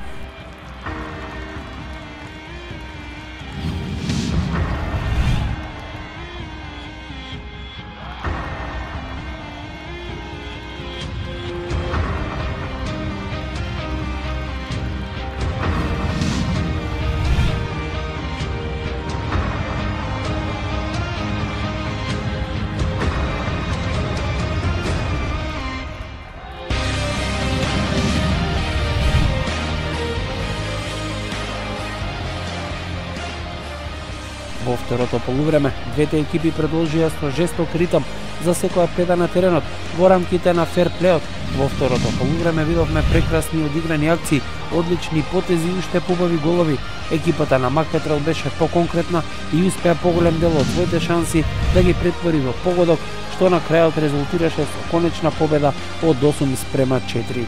S2: Во второто полувреме, двете екипи продолжија со жесток ритам за секоја педа на теренот во рамките на фер плеот. Во второто полувреме видовме прекрасни одиграни акции, одлични потези и уште побави голови. Екипата на Мак Петрол беше поконкретна и успеа поголем дел од своите шанси да ги претвори во погодок, што на крајот резултираше со конечна победа од осум спрема четири.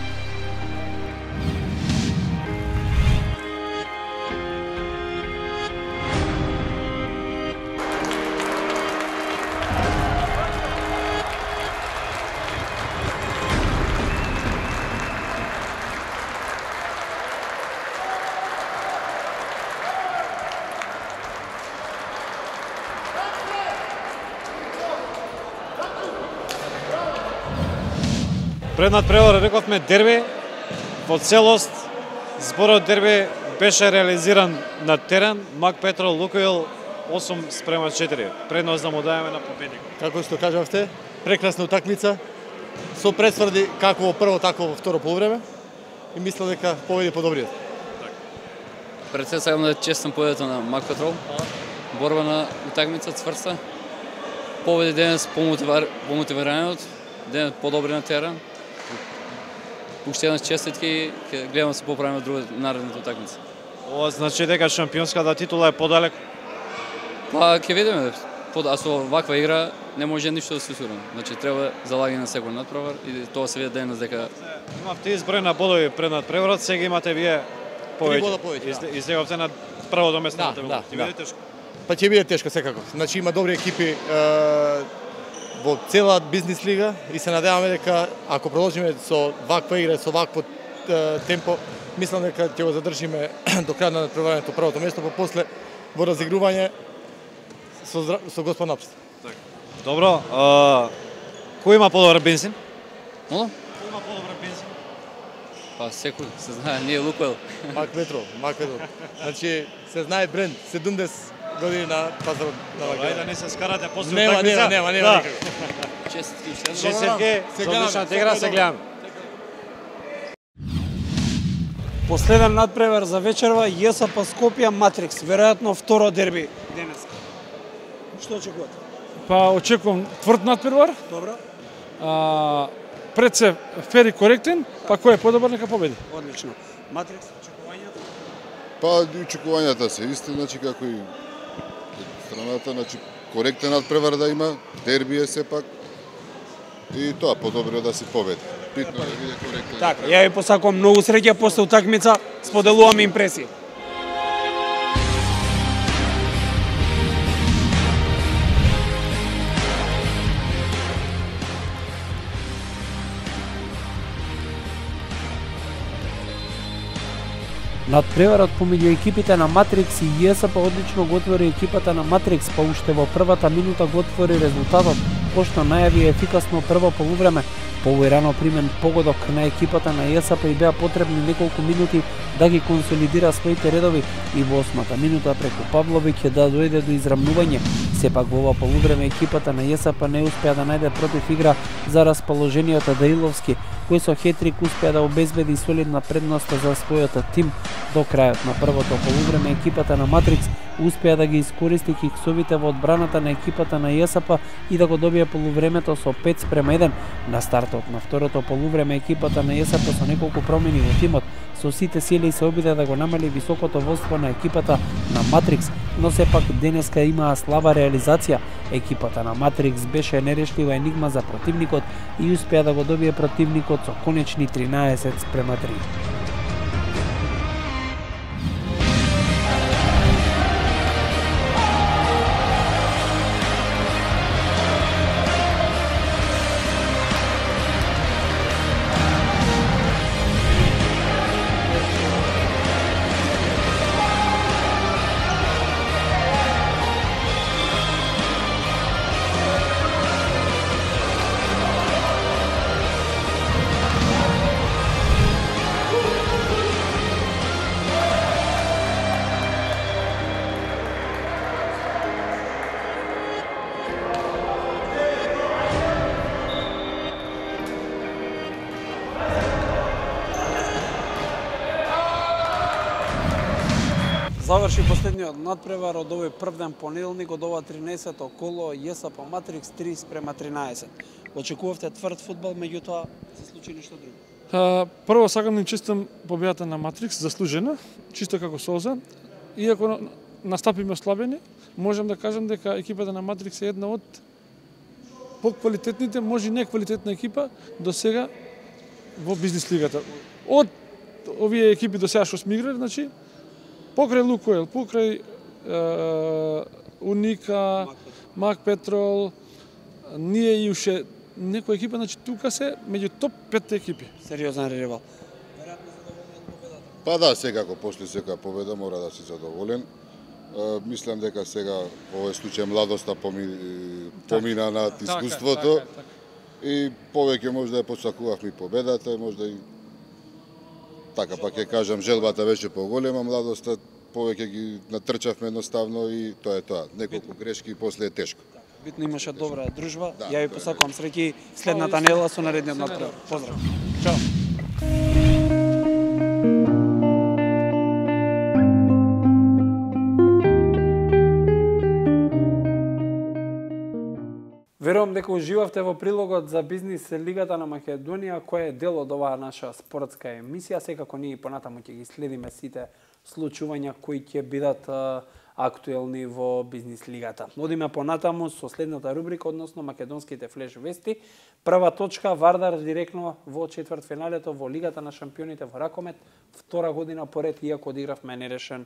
S1: Пред надпревар рековме дерби, во целост зборот дерби беше реализиран на терен, Мак Петрол Лукоил осум спрема четири. Предност да му даеме на победникот.
S8: Како што кажавте, прекрасна утакмица, со пресврди како во прво, така во второ полувреме и мисля дека победи подобриот.
S9: Пред се сакам да честам победата на Мак Петрол. Борба на утакмица цврста. Победи денес по мотивираниот, денес подобри на терен. уште еднаш честитки, ќе гледам да се поправиме друга наредната утакмица.
S1: Ова значи дека шампионската титула е подалеку?
S9: Па ќе видиме. А со ваква игра не може ништо да се сигурно. Значи треба залагање на секој надпревар и тоа се види денес дека
S1: имавте изброј на бодови пред надпреварот, сега имате вие повеќе.
S8: бода повеќе, да.
S1: Излеговте на првото место на
S8: Да,
S1: таблата.
S8: да,
S1: Ќе
S8: да.
S1: биде тешко.
S8: Па ќе биде тешко секако. Значи има добри екипи е, во цела бизнис лига и се надеваме дека ако продолжиме со ваква игра, со вакво е, темпо, мислам дека ќе го задржиме до крај на надпреварувањето првото место, па после во разигрување со здра... со Господ Напст.
S1: Добро, а, кој има подобар бензин?
S9: Мола?
S1: Кој има подобар бензин?
S9: Па секој се знае, ние Лукойл.
S8: Мак Петрол, Мак Петрол. Значи се знае бренд, седумдесет години на пазарот на
S1: Ајде
S8: Македонија.
S1: да не се скарате после
S8: Нема,
S1: утакмица.
S8: нема, нема, нема
S1: Да.
S8: никако.
S9: Честитки уште еднаш.
S1: Честитки
S8: Се
S1: за
S8: гледаме,
S1: одличната
S8: се
S1: игра, се
S8: гледаме.
S1: гледаме.
S2: Последен надпревар за вечерва ЈСП Скопје Матрикс, веројатно второ дерби денес. Што очекувате?
S6: Па очекувам тврд надпревар,
S2: Добро,
S6: а, пред се фер и коректен, па кој е подобар нека победи.
S2: одлично. Матрикс, очекувањата?
S10: Па очекувањата се исти, значи како и страната, значи коректен надпревар да има, дерби е сепак. И тоа подобро е да се победи. Битно е да биде коректен.
S2: Така, ја ви посакувам многу среќа после утакмица, споделувам импресии. Надпреварот помеѓу екипите на Матрикс и ЈСП одлично го отвори екипата на Матрикс, па уште во првата минута го отвори резултатот, пошто најави ефикасно прво полувреме. Повојрано примен погодок на екипата на ЈСП и беа потребни неколку минути да ги консолидира своите редови и во осмата минута преку Павловиќ да дојде до израмнување. Сепак во ова полувреме екипата на ЈСП не успеа да најде против игра за расположениот Даиловски, кој со хетрик успеа да обезбеди солидна предност за својот тим. До крајот на првото полувреме екипата на Матрикс успеа да ги искористи киксовите во одбраната на екипата на ЈСП и да го добие полувремето со пет спрема еден. На стартот на второто полувреме екипата на ЈСП со неколку промени во тимот со сите сили се обиде да го намали високото водство на екипата на Матрикс, но сепак денеска имаа слаба реализација. Екипата на Матрикс беше нерешлива енигма за противникот и успеа да го добие противникот со конечни тринаесет спрема три. Заврши последниот надпревар од овој прв ден понеделник од ова тринаесетто коло ЈСП Матрикс три спрема тринаесет. Очекувавте тврд фудбал, меѓутоа се случи нешто друго.
S6: А, прво сакам да им честам победата на Матрикс, заслужена, чисто како Солза. Иако настапиме ослабени, можам да кажам дека екипата на Матрикс е една од поквалитетните, може и неквалитетна екипа до сега во бизнис лигата. Од овие екипи до сега што сме играли, значи покрај Лукойл, покрај е, Уника, Мак Петрол, ние и уште некоја екипа, значи тука се меѓу топ пет екипи.
S2: Сериозен ревал.
S10: Па да, секако после секоја победа мора да си задоволен. Е, мислам дека сега во овој случај младоста поми, помина над искуството.
S6: Така, така, така.
S10: И повеќе можда ја посакувавме победата, можда и така, па ќе кажам, желбата беше поголема, младоста повеќе ги натрчавме едноставно и тоа е тоа. Неколку грешки и после е тешко.
S2: Битно имаше добра дружба.
S10: Да,
S2: Ја ви посакувам среќи следната недела со наредниот надпревар. Поздрав.
S6: Чао.
S2: Верувам дека уживавте во прилогот за бизнис лигата на Македонија, која е дел од оваа наша спортска емисија. Секако ние понатаму ќе ги следиме сите случувања кои ќе бидат актуелни во бизнис лигата. Одиме понатаму со следната рубрика, односно македонските флеш вести. Прва точка, Вардар директно во четвртфиналето во Лигата на шампионите во ракомет, втора година поред, иако одигравме нерешен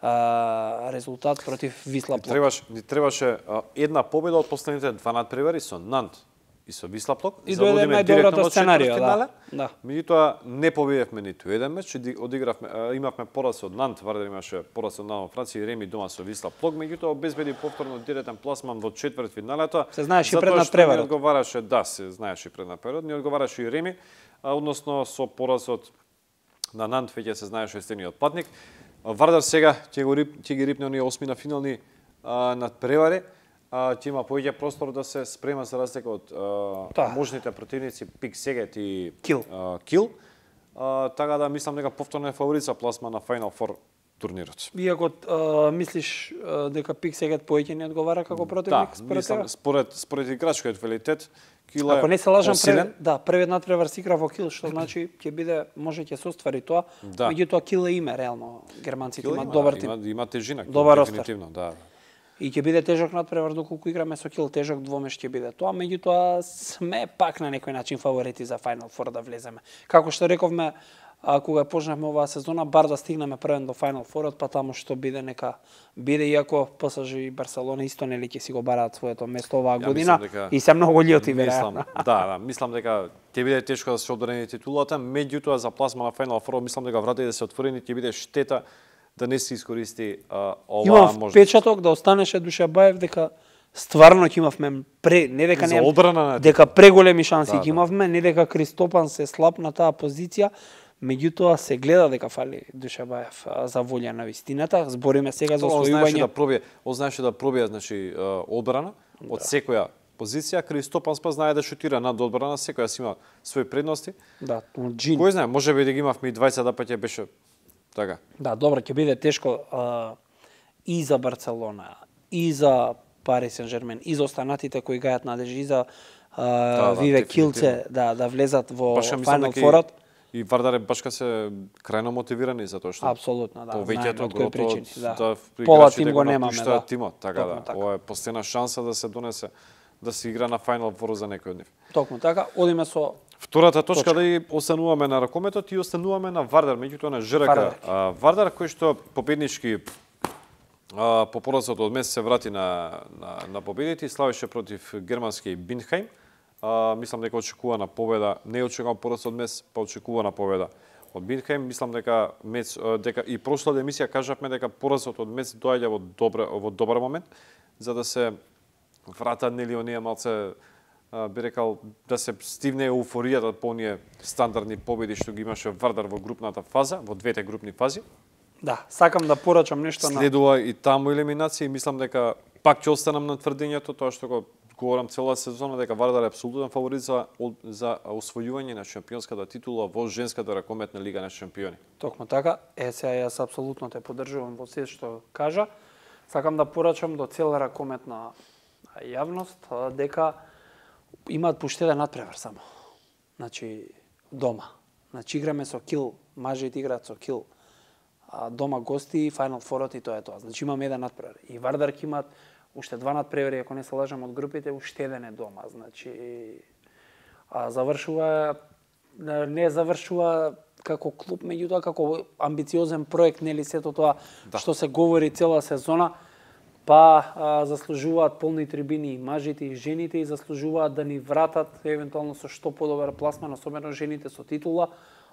S2: а, резултат против Висла Плок.
S1: Требаш, ни требаше а, една победа од последните два надпревари со Нант и со Висла Плок.
S2: И дојде најдоброто сценарио, да. да.
S1: Меѓутоа не победевме ниту еден меч, одигравме, имавме пораз од Нант, Вардар имаше пораз од Нант во Франција и реми дома со Висла Плок, меѓутоа обезбеди повторно директен пласман во четвртфиналето.
S2: Се знаеше и пред надпреварот.
S1: Не одговараше, да, се знаеше и пред надпреварот, не одговараше и реми, а, односно со поразот на Нант веќе се знаеше естениот платник. Вардар сега ќе го ќе ги рипне оние осми на финални а, надпревари. Ќе има повеќе простор да се спрема за разлика од да. можните противници Пик Сегет и
S2: Кил.
S1: А, Кил. А, така да мислам дека повторно е фаворит за пласма на Final Four турнирот.
S2: Иако а, мислиш а, дека Пик Сегет повеќе не одговара како противник?
S1: Да,
S2: според
S1: мислам,
S2: тега?
S1: според, според играчкиот квалитет, Кил е
S2: Ако не се лажам,
S1: посилен.
S2: прв, да, првиот надпревар се игра во Кил, што значи ќе биде, може ќе се оствари тоа.
S1: Да.
S2: Меѓутоа Кил е име реално. Германците
S1: Кил
S2: имаат
S1: има,
S2: добар
S1: да,
S2: тим.
S1: Има, има тежина,
S2: Добар
S1: дефинитивно, да.
S2: И ќе биде тежок надпревар доколку играме со Кил, тежок двомеш ќе биде тоа, меѓутоа сме пак на некој начин фаворити за Final Four да влеземе. Како што рековме, а, кога почнавме оваа сезона, бар да стигнеме првен до Final Four, па таму што биде нека биде, иако ПСЖ и Барселона исто нели ќе си го бараат своето место оваа
S1: Ја
S2: година
S1: дека,
S2: и се многу љути
S1: веројатно.
S2: веројатно.
S1: Да, да, мислам дека ќе биде тешко да се одбрани титулата, меѓутоа за пласма на Final Four мислам дека вратите да се отворени, ќе биде штета да не се искористи а, оваа
S2: Имам
S1: можност.
S2: впечаток да останеше Душабаев дека стварно ќе имавме пре, не дека
S1: За
S2: не
S1: одбрана на
S2: дека преголеми шанси
S1: Да,
S2: ќе
S1: да.
S2: имавме, не дека Кристопан се слаб на таа позиција, меѓутоа се гледа дека фали Душабаев а, за волја на вистината. Збориме сега за
S1: Тоа знаеше да
S2: освојување.
S1: пробие, он знаеше да пробие значи а, одбрана од секоја позиција. Кристопан спа знае да шутира над одбрана, секоја си има своји предности.
S2: Да, Джин.
S1: Кој знае, можеби да ги имавме и двајцет паќе беше така.
S2: Да, добро, ќе биде тешко а, и за Барселона, и за Пари Сен-Жермен, и за останатите кои гајат надежи, и за а,
S1: Да, да,
S2: Виве
S1: дефинитивно.
S2: Килце да да влезат во
S1: Баш ја мислам
S2: Final
S1: дека
S2: Four.
S1: и, и Вардар е башка се крајно мотивирани затоа што
S2: Апсолутно, да.
S1: повеќето
S2: знаеме од кои причини, да.
S1: да
S2: Пола
S1: играчите
S2: тим го немаме, да.
S1: тимот, така
S2: Токму
S1: да.
S2: така.
S1: Ова е последна шанса да се донесе да се игра на Final Four за некој од нив.
S2: Токму така, одиме со
S1: Втората точка,
S2: Точка.
S1: да и остануваме на ракометот и остануваме на Вардар, меѓутоа на ЖРК.
S2: Вардар.
S1: А, Вардар кој што победнички а, по поразот од месец се врати на, на, на победите и славеше против германски Бинхайм. А, мислам дека очекувана победа, не очекувам пораз од месец, па очекувана победа од Бинхайм. Мислам дека мец, дека и прошлата емисија кажавме дека поразот од месец доаѓа во добра во добар момент за да се врата нели оние малце би рекал да се стивне еуфоријата по оние стандардни победи што ги имаше Вардар во групната фаза, во двете групни фази.
S2: да, сакам да порачам нешто на
S1: Следува и таму елиминација и мислам дека пак ќе останам на тврдењето тоа што го говорам цела сезона дека Вардар е апсолутен фаворит за за освојување на шампионската титула во женската ракометна лига на шампиони.
S2: Токму така, е сега јас апсолутно те поддржувам во се што кажа. Сакам да порачам до цела ракометна јавност а, дека имаат поштеден надпревар само. Значи дома. Значи играме со Кил, мажите играат со Кил. А дома гости Final Four и тоа е тоа. Значи имаме еден надпревар. И Вардар ќе имаат уште два надпревари, ако не се лажам од групите, уштеден е дома. Значи а завршува не завршува како клуб, меѓутоа како амбициозен проект, нели сето тоа
S1: Да.
S2: што се говори цела сезона, па а, заслужуваат полни трибини и мажите и жените и заслужуваат да ни вратат евентуално со што подобар пласман, особено жените со титула,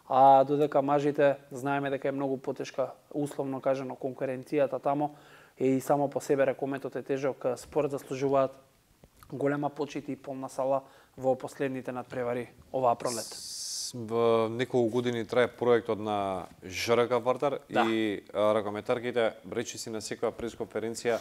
S2: а додека мажите знаеме дека е многу потешка, условно кажано, конкуренцијата тамо и само по себе ракометот е тежок спорт, заслужуваат голема почит и полна сала во последните надпревари оваа пролет.
S1: Во неколку години трае проектот на ЖРК Вардар
S2: Да.
S1: и а, ракометарките речиси на секоја пресконференција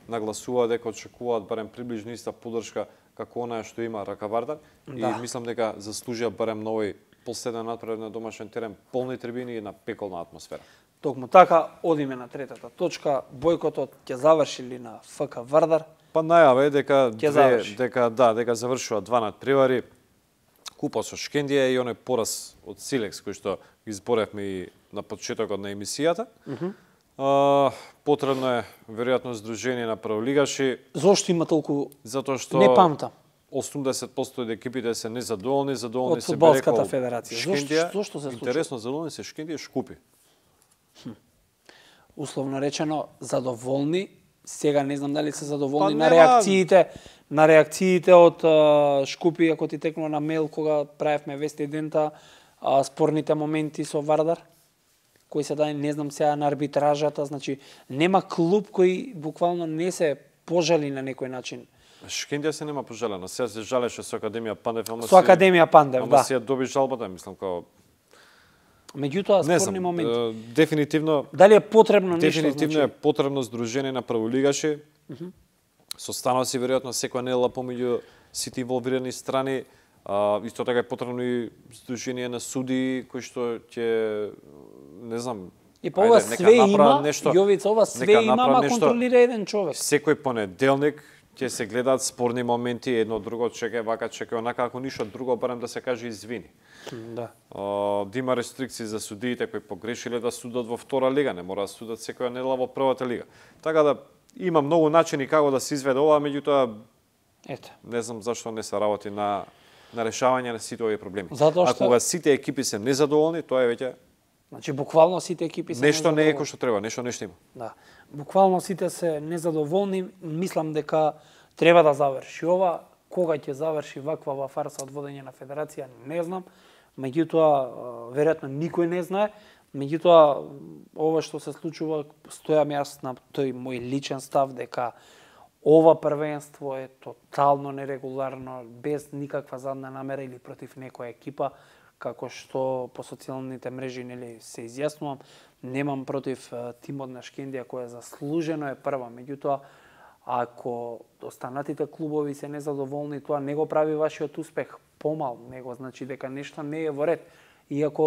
S1: нагласува дека очекуваат барем приближно иста поддршка како онаа што има РК Вардар
S2: Да.
S1: и мислам дека заслужија барем на овој последен надпревар на домашен терен полни трибини и една пеколна атмосфера.
S2: Токму така, одиме на третата точка. Бојкотот ќе заврши ли на ФК Вардар?
S1: Па најава е дека
S2: Ќе
S1: две,
S2: заврши.
S1: дека да, дека завршува два надпревари. Купа со Шкендија и оној пораз од Силекс кој што изборевме и на почетокот на емисијата.
S2: Мгм.
S1: А, потребно е веројатно здружение на прволигаши.
S2: Зошто има толку?
S1: Затоа што
S2: Не памтам.
S1: осумдесет проценти од екипите се незадоволни, задоволни
S2: Од
S1: се
S2: фудбалската
S1: рекол
S2: федерација.
S1: Шкендија.
S2: Зошто- зошто се случи?
S1: Интересно, задоволни се Шкендија и Шкупи.
S2: Условно речено, задоволни. Сега не знам дали се задоволни
S1: Па
S2: на
S1: нема-
S2: реакциите, на реакциите од а, Шкупи, ако ти текнува на мејл кога правевме вести дента, а, спорните моменти со Вардар, кои се дај, не знам сега, на арбитражата, значи нема клуб кој буквално не се пожали на некој начин.
S1: Шкендија се нема пожалена. Сега се жалеше со Академија Пандев, ама
S2: Со Академија Пандев,
S1: ама
S2: да.
S1: си ја доби жалбата, мислам, као
S2: Меѓутоа,
S1: не
S2: спорни
S1: знам,
S2: моменти.
S1: е, дефинитивно
S2: Дали е потребно нешто,
S1: Дефинитивно
S2: значи?
S1: е потребно здружение на прволигаши.
S2: Мгм.
S1: Со становци веројатно секоја недела помеѓу сите инволвирани страни. А, исто така е потребно и здружение на суди кои што ќе не знам.
S2: И па ова
S1: ајде, нека
S2: све
S1: направат
S2: има,
S1: нешто,
S2: Јовица, ова све
S1: нека
S2: има,
S1: направат
S2: ама
S1: нешто.
S2: контролира еден човек.
S1: Секој понеделник ќе се гледаат спорни моменти, едно друго чекај вака, чекај онака, ако ништо друго, барем да се каже извини.
S2: Да.
S1: А, да има рестрикции за судиите кои погрешиле да судат во втора лига, не мора да судат секоја недела во првата лига. Така да има многу начини како да се изведе ова, меѓутоа
S2: Ете.
S1: не знам зашто не се работи на на решавање на сите овие проблеми.
S2: Затоа
S1: А
S2: што-
S1: кога сите екипи се незадоволни, тоа е веќе
S2: Значи буквално сите екипи се
S1: нешто не е
S2: незадоволни.
S1: кој што треба, нешто нешто има.
S2: Да. Буквално сите се незадоволни. Мислам дека треба да заврши ова. Кога ќе заврши ваква фарса од водење на федерација, не знам. Меѓутоа, а, веројатно никој не знае. Меѓутоа, ова што се случува, стојам јас на тој мој личен став дека ова првенство е тотално нерегуларно, без никаква задна намера или против некоја екипа, како што по социјалните мрежи нели се изјаснувам. Немам против а, тимот на Шкендија која заслужено е прва, меѓутоа ако останатите клубови се незадоволни, тоа не го прави вашиот успех помал, него значи дека нешто не е во ред. Иако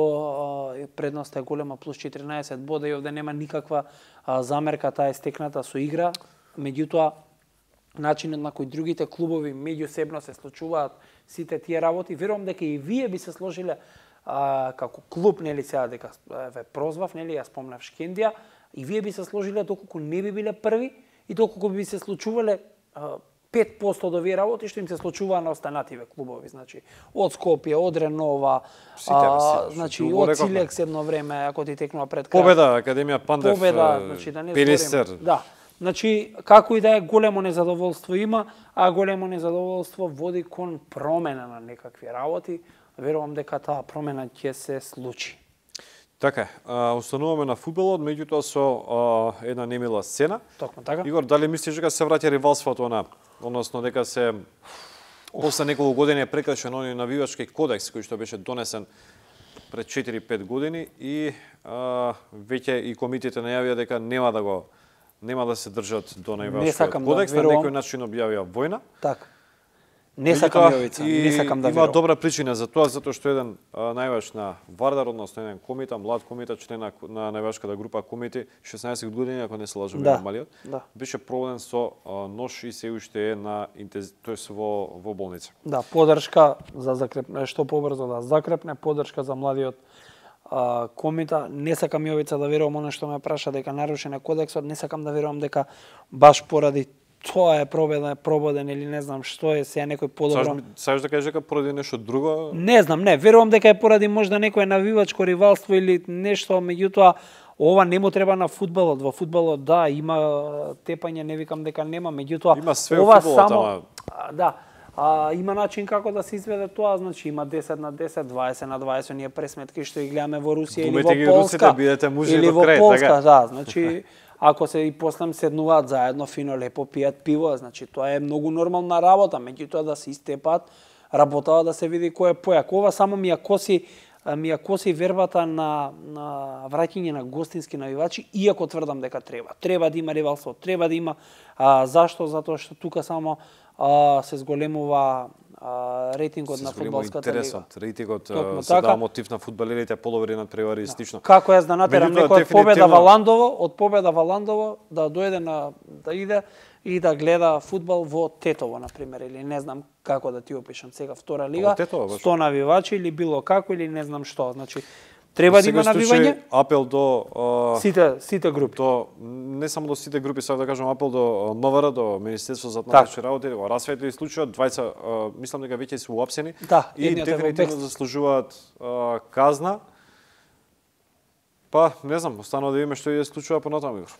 S2: а, предноста е голема плюс четиринаесет бода и овде нема никаква а, замерка, таа е стекната со игра, меѓутоа начинот на кој другите клубови меѓусебно се случуваат сите тие работи, верувам дека и вие би се сложиле а, како клуб, нели сега дека ве прозвав, нели ја спомнав Шкендија, и вие би се сложиле доколку не би биле први и доколку би се случувале а, пет проценти од овие работи што им се случуваа на останативе клубови, значи од Скопје, од Ренова,
S1: Сите, бе,
S2: а,
S1: сите,
S2: значи
S1: што го
S2: од
S1: рековме.
S2: Силекс едно време, ако ти текнува пред крај.
S1: Победа, Академија Пандев,
S2: Победа,
S1: е,
S2: значи да не
S1: Пелистер.
S2: зборим. Да. Значи, како и да е, големо незадоволство има, а големо незадоволство води кон промена на некакви работи. Верувам дека таа промена ќе се случи.
S1: Така е, а, остануваме на фудбалот, меѓутоа со а, една немила сцена.
S2: Токму така.
S1: Игор, дали мислиш дека се враќа ривалството на, односно дека се после неколку години е прекрашен оној навивачки кодекс кој што беше донесен пред четири-пет години и а, веќе и комитетите најавија дека нема да го нема да се држат до
S2: Не
S1: навивачкиот
S2: сакам да
S1: кодекс, на
S2: верувам.
S1: некој начин објавија војна.
S2: Така. Не
S1: Меѓутоа,
S2: сакам Јовица,
S1: и
S2: не сакам да
S1: има
S2: верувам.
S1: добра причина за тоа, затоа што еден а, најваш на Вардар, односно еден комита, млад комита, член на, на највашката група комити, шеснаесет години, ако не се лажам,
S2: Да,
S1: малиот,
S2: да.
S1: беше проблем со а, нож и се уште е на интез... тоест во во болница.
S2: Да, поддршка за закрепне, што побрзо да закрепне, поддршка за младиот а, комита. Не сакам Јовица да верувам оно што ме праша дека нарушен е кодексот, не сакам да верувам дека баш поради тоа е пробеден, прободен или не знам што е, сега некој подобро.
S1: Сакаш да кажеш дека поради нешто друго?
S2: Не знам, не, верувам дека е поради можда некое навивачко ривалство или нешто, меѓутоа ова не му треба на фудбалот. Во фудбалот да, има тепање, не викам дека нема, меѓутоа
S1: Има све во
S2: ова
S1: фудбалот,
S2: само
S1: ама-
S2: а, да, а, има начин како да се изведе тоа, значи има десет на десет, дваесет на дваесет, ние пресметки што ги гледаме во Русија или
S1: Думајте
S2: во
S1: ги
S2: Полска.
S1: русите, бидете мужи
S2: или
S1: до
S2: во
S1: крај,
S2: Полска,
S1: така?
S2: да, значи ако се и после седнуваат заедно, фино лепо пијат пиво, значи тоа е многу нормална работа, меѓутоа да се истепат, работава да се види кој е појак. Ова само ми ја коси ми ја коси вербата на на враќање на гостински навивачи, иако тврдам дека треба. Треба да има ривалство, треба да има а, зашто? Затоа што тука само а, се зголемува а, рейтингот на фудбалската лига.
S1: Рейтингот
S2: Токму
S1: се
S2: така.
S1: дава мотив на фудбалерите, половри надпревари и слично.
S2: Како јас да натерам
S1: Меѓутоа,
S2: некој од победа
S1: дефинитивно-
S2: во Ландово, од победа во Ландово да дојде на да иде и да гледа фудбал во Тетово на пример или не знам како да ти опишам сега втора лига,
S1: Во Тетово, баш.
S2: сто навивачи или било како или не знам што. Значи треба да има
S1: Во секој случај,
S2: навивање
S1: апел до а,
S2: сите сите групи.
S1: до не само до сите групи, сакам да кажам апел до МВР, до Министерство за
S2: Так.
S1: внатрешни работи, го расветли случајот, двајца а, мислам дека веќе се уапсени
S2: Да,
S1: и
S2: едниот е во
S1: дефинитивно
S2: бегство.
S1: заслужуваат а, казна. Па, не знам, останува да видиме што ќе се случува понатаму, Игор.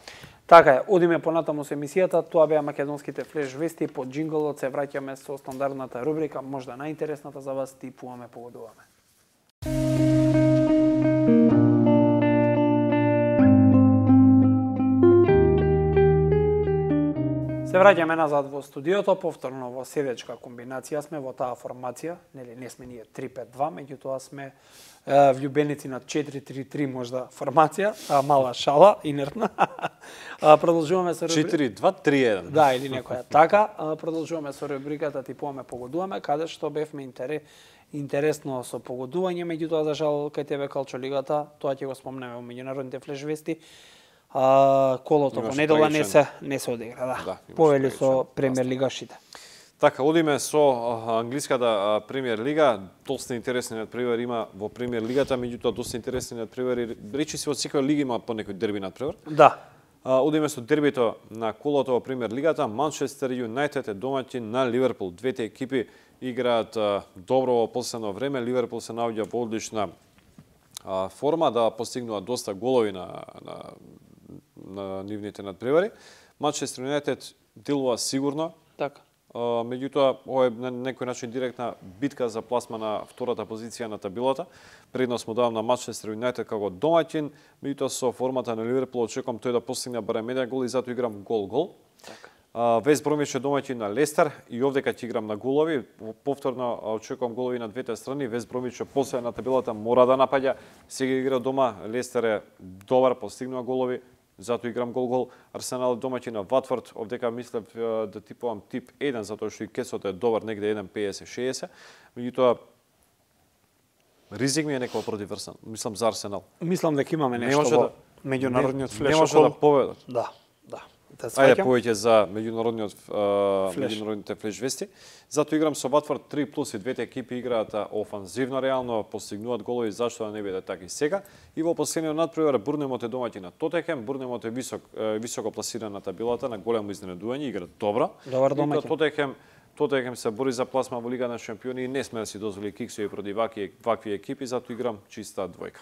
S2: Така е, одиме понатаму со емисијата, тоа беа македонските флеш вести, под джинголот се враќаме со стандардната рубрика, можда најинтересната за вас, типуваме, погодуваме. Се враќаме назад во студиото, повторно во седечка комбинација сме во таа формација, нели не сме ние три пет два, меѓутоа сме е, влюбеници на четири три три можда формација, а мала шала, инертна. А, продолжуваме со рубриката.
S1: четири два три еден.
S2: Да, или некоја така. А, продолжуваме со рубриката Типуваме, погодуваме, каде што бевме интерес, интересно со погодување, меѓутоа за жал кај тебе Калчо лигата, тоа ќе го спомнеме во меѓународните флеш вести. А, колото во
S1: Имаше
S2: недела не
S1: трагичен-
S2: се не се одигра, да.
S1: Да, имаше
S2: Повели
S1: трагичен
S2: со премиер лигашите.
S1: Така, одиме со а, англиската а, премиер лига. Доста интересни надпревари има во премиер лигата, меѓутоа доста интересни надпревари. Речи се од секоја лига има по некој дерби надпревар.
S2: Да.
S1: А, одиме со дербито на колото во премиер лигата. Манчестер Юнајтед е домаќин на Ливерпул. Двете екипи играат а, добро во последно време. Ливерпул се наоѓа во одлична а, форма да постигнува доста голови на, на, на нивните надпревари. Манчестер Юнајтед делува сигурно.
S2: Така.
S1: Uh, меѓутоа, ова е на некој начин директна битка за пласма на втората позиција на табелата. Предност му давам на Манчестер Юнајтед како домаќин, меѓутоа со формата на Ливерпул очекувам тој да постигне барем еден гол и затоа играм гол-гол.
S2: Така.
S1: Uh, Вест Бромвич е домаќин на Лестер и овдека ќе играм на голови. Повторно очекувам голови на двете страни. Вест Бромвич е после на табелата мора да напаѓа. Сега игра дома, Лестер е добар, постигнува голови. Затоа играм гол-гол. Арсенал домаќин на Ватфорд. Овдека мислев да типувам тип еден, затоа што и кесот е добар, негде еден педесет шеесет. Меѓутоа, ризик ми е некој против Арсенал. Мислам за Арсенал.
S2: Мислам дека имаме
S1: Не
S2: нешто
S1: може
S2: во
S1: да-
S2: меѓународниот
S1: Не-
S2: флеш
S1: Не може
S2: околу.
S1: да победат.
S2: Да, да. Да
S1: Ајде
S2: сваќам.
S1: повеќе за меѓународниот а,
S2: Флеш.
S1: меѓународните флеш вести. Затоа играм со Ватфорд три плюс и двете екипи играат офанзивно реално, постигнуваат голови, зашто да не биде така и сега. И во последниот надпревар Бурнемот е домаќин на Тотенхем. Бурнемот е висок е, високо пласиран на табелата, на големо изненадување, игра добро.
S2: Добар
S1: И тоа
S2: домаќин.
S1: Тотенхем Тотенхем се бори за пласма во Лига на шампиони и не сме да си дозволи киксови против вакви, вакви екипи, затоа играм чиста двојка.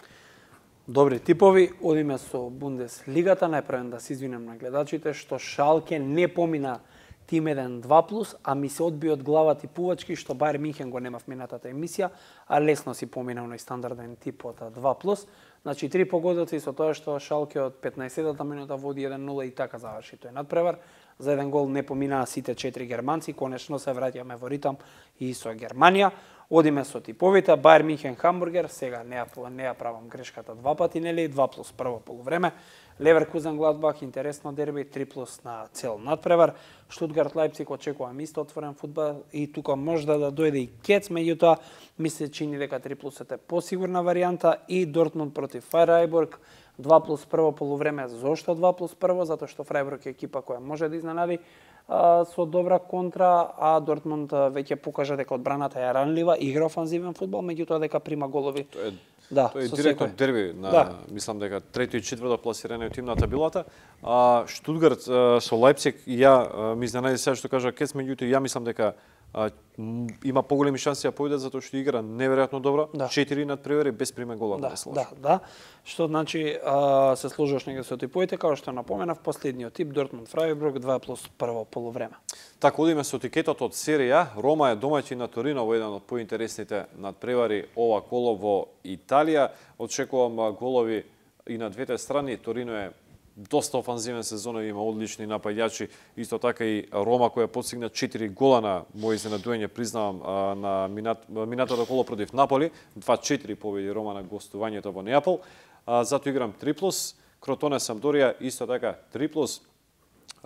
S2: Добри типови, одиме со Бундеслигата, најпрвен да се извинам на гледачите што Шалке не помина тим еден два плюс, а ми се одби од глава типувачки што Бајер Минхен го нема в минатата емисија, а лесно си поминал на стандарден тип од два плюс. Значи три погодоци со тоа што Шалке од петнаесеттата минута води еден нула и така заврши тој надпревар. За еден гол не поминаа сите четири германци, конечно се враќаме во ритам и со Германија. Одиме со типовите, Бајер Минхен Хамбургер, сега не ја, не ја правам грешката два пати, нели, два плюс прво полувреме. Леверкузен Гладбах, интересно дерби, три плюс на цел надпревар. Штутгарт Лајпциг очекувам исто отворен фудбал и тука можда да дојде и Кец, меѓутоа ми се чини дека три плюс е посигурна варијанта и Дортмунд против Фрајбург, два плюс прво полувреме. Зошто два плюс прво? Затоа што Фрајбург е екипа која може да изненади а, со добра контра, а Дортмунд а, веќе покажа дека одбраната е ранлива, игра офанзивен фудбал, меѓутоа дека прима голови.
S1: Тоа е
S2: Да,
S1: Тоа е
S2: со
S1: директно
S2: секој.
S1: дерби на,
S2: Да.
S1: мислам дека трето и четврто пласираниот тим на табелата. А Штутгарт а, со Лајпциг ја а, ми изненади сега што кажа Кец, меѓутоа ја мислам дека а, м, има поголеми шанси да победат затоа што игра неверојатно добро.
S2: Да.
S1: четири надпревари без приме гола
S2: Да,
S1: да се
S2: да, да. Што значи а, се сложуваш нега со типовите, како што напоменав, последниот тип Дортмунд Фрајбург два плюс прво полувреме.
S1: Така, одиме со тикетот од серија. Рома е домаќин на Торино во еден од поинтересните надпревари ова коло во Италија. Очекувам а, голови и на двете страни. Торино е доста офанзивен сезон, има одлични напаѓачи. Исто така и Рома која постигна четири гола на мој изненадување, признавам, а, на минат, минатото коло против Наполи. два четири победи Рома на гостувањето во Неапол. А, затоа играм три плюс. Кротоне Самдорија исто така три плюс.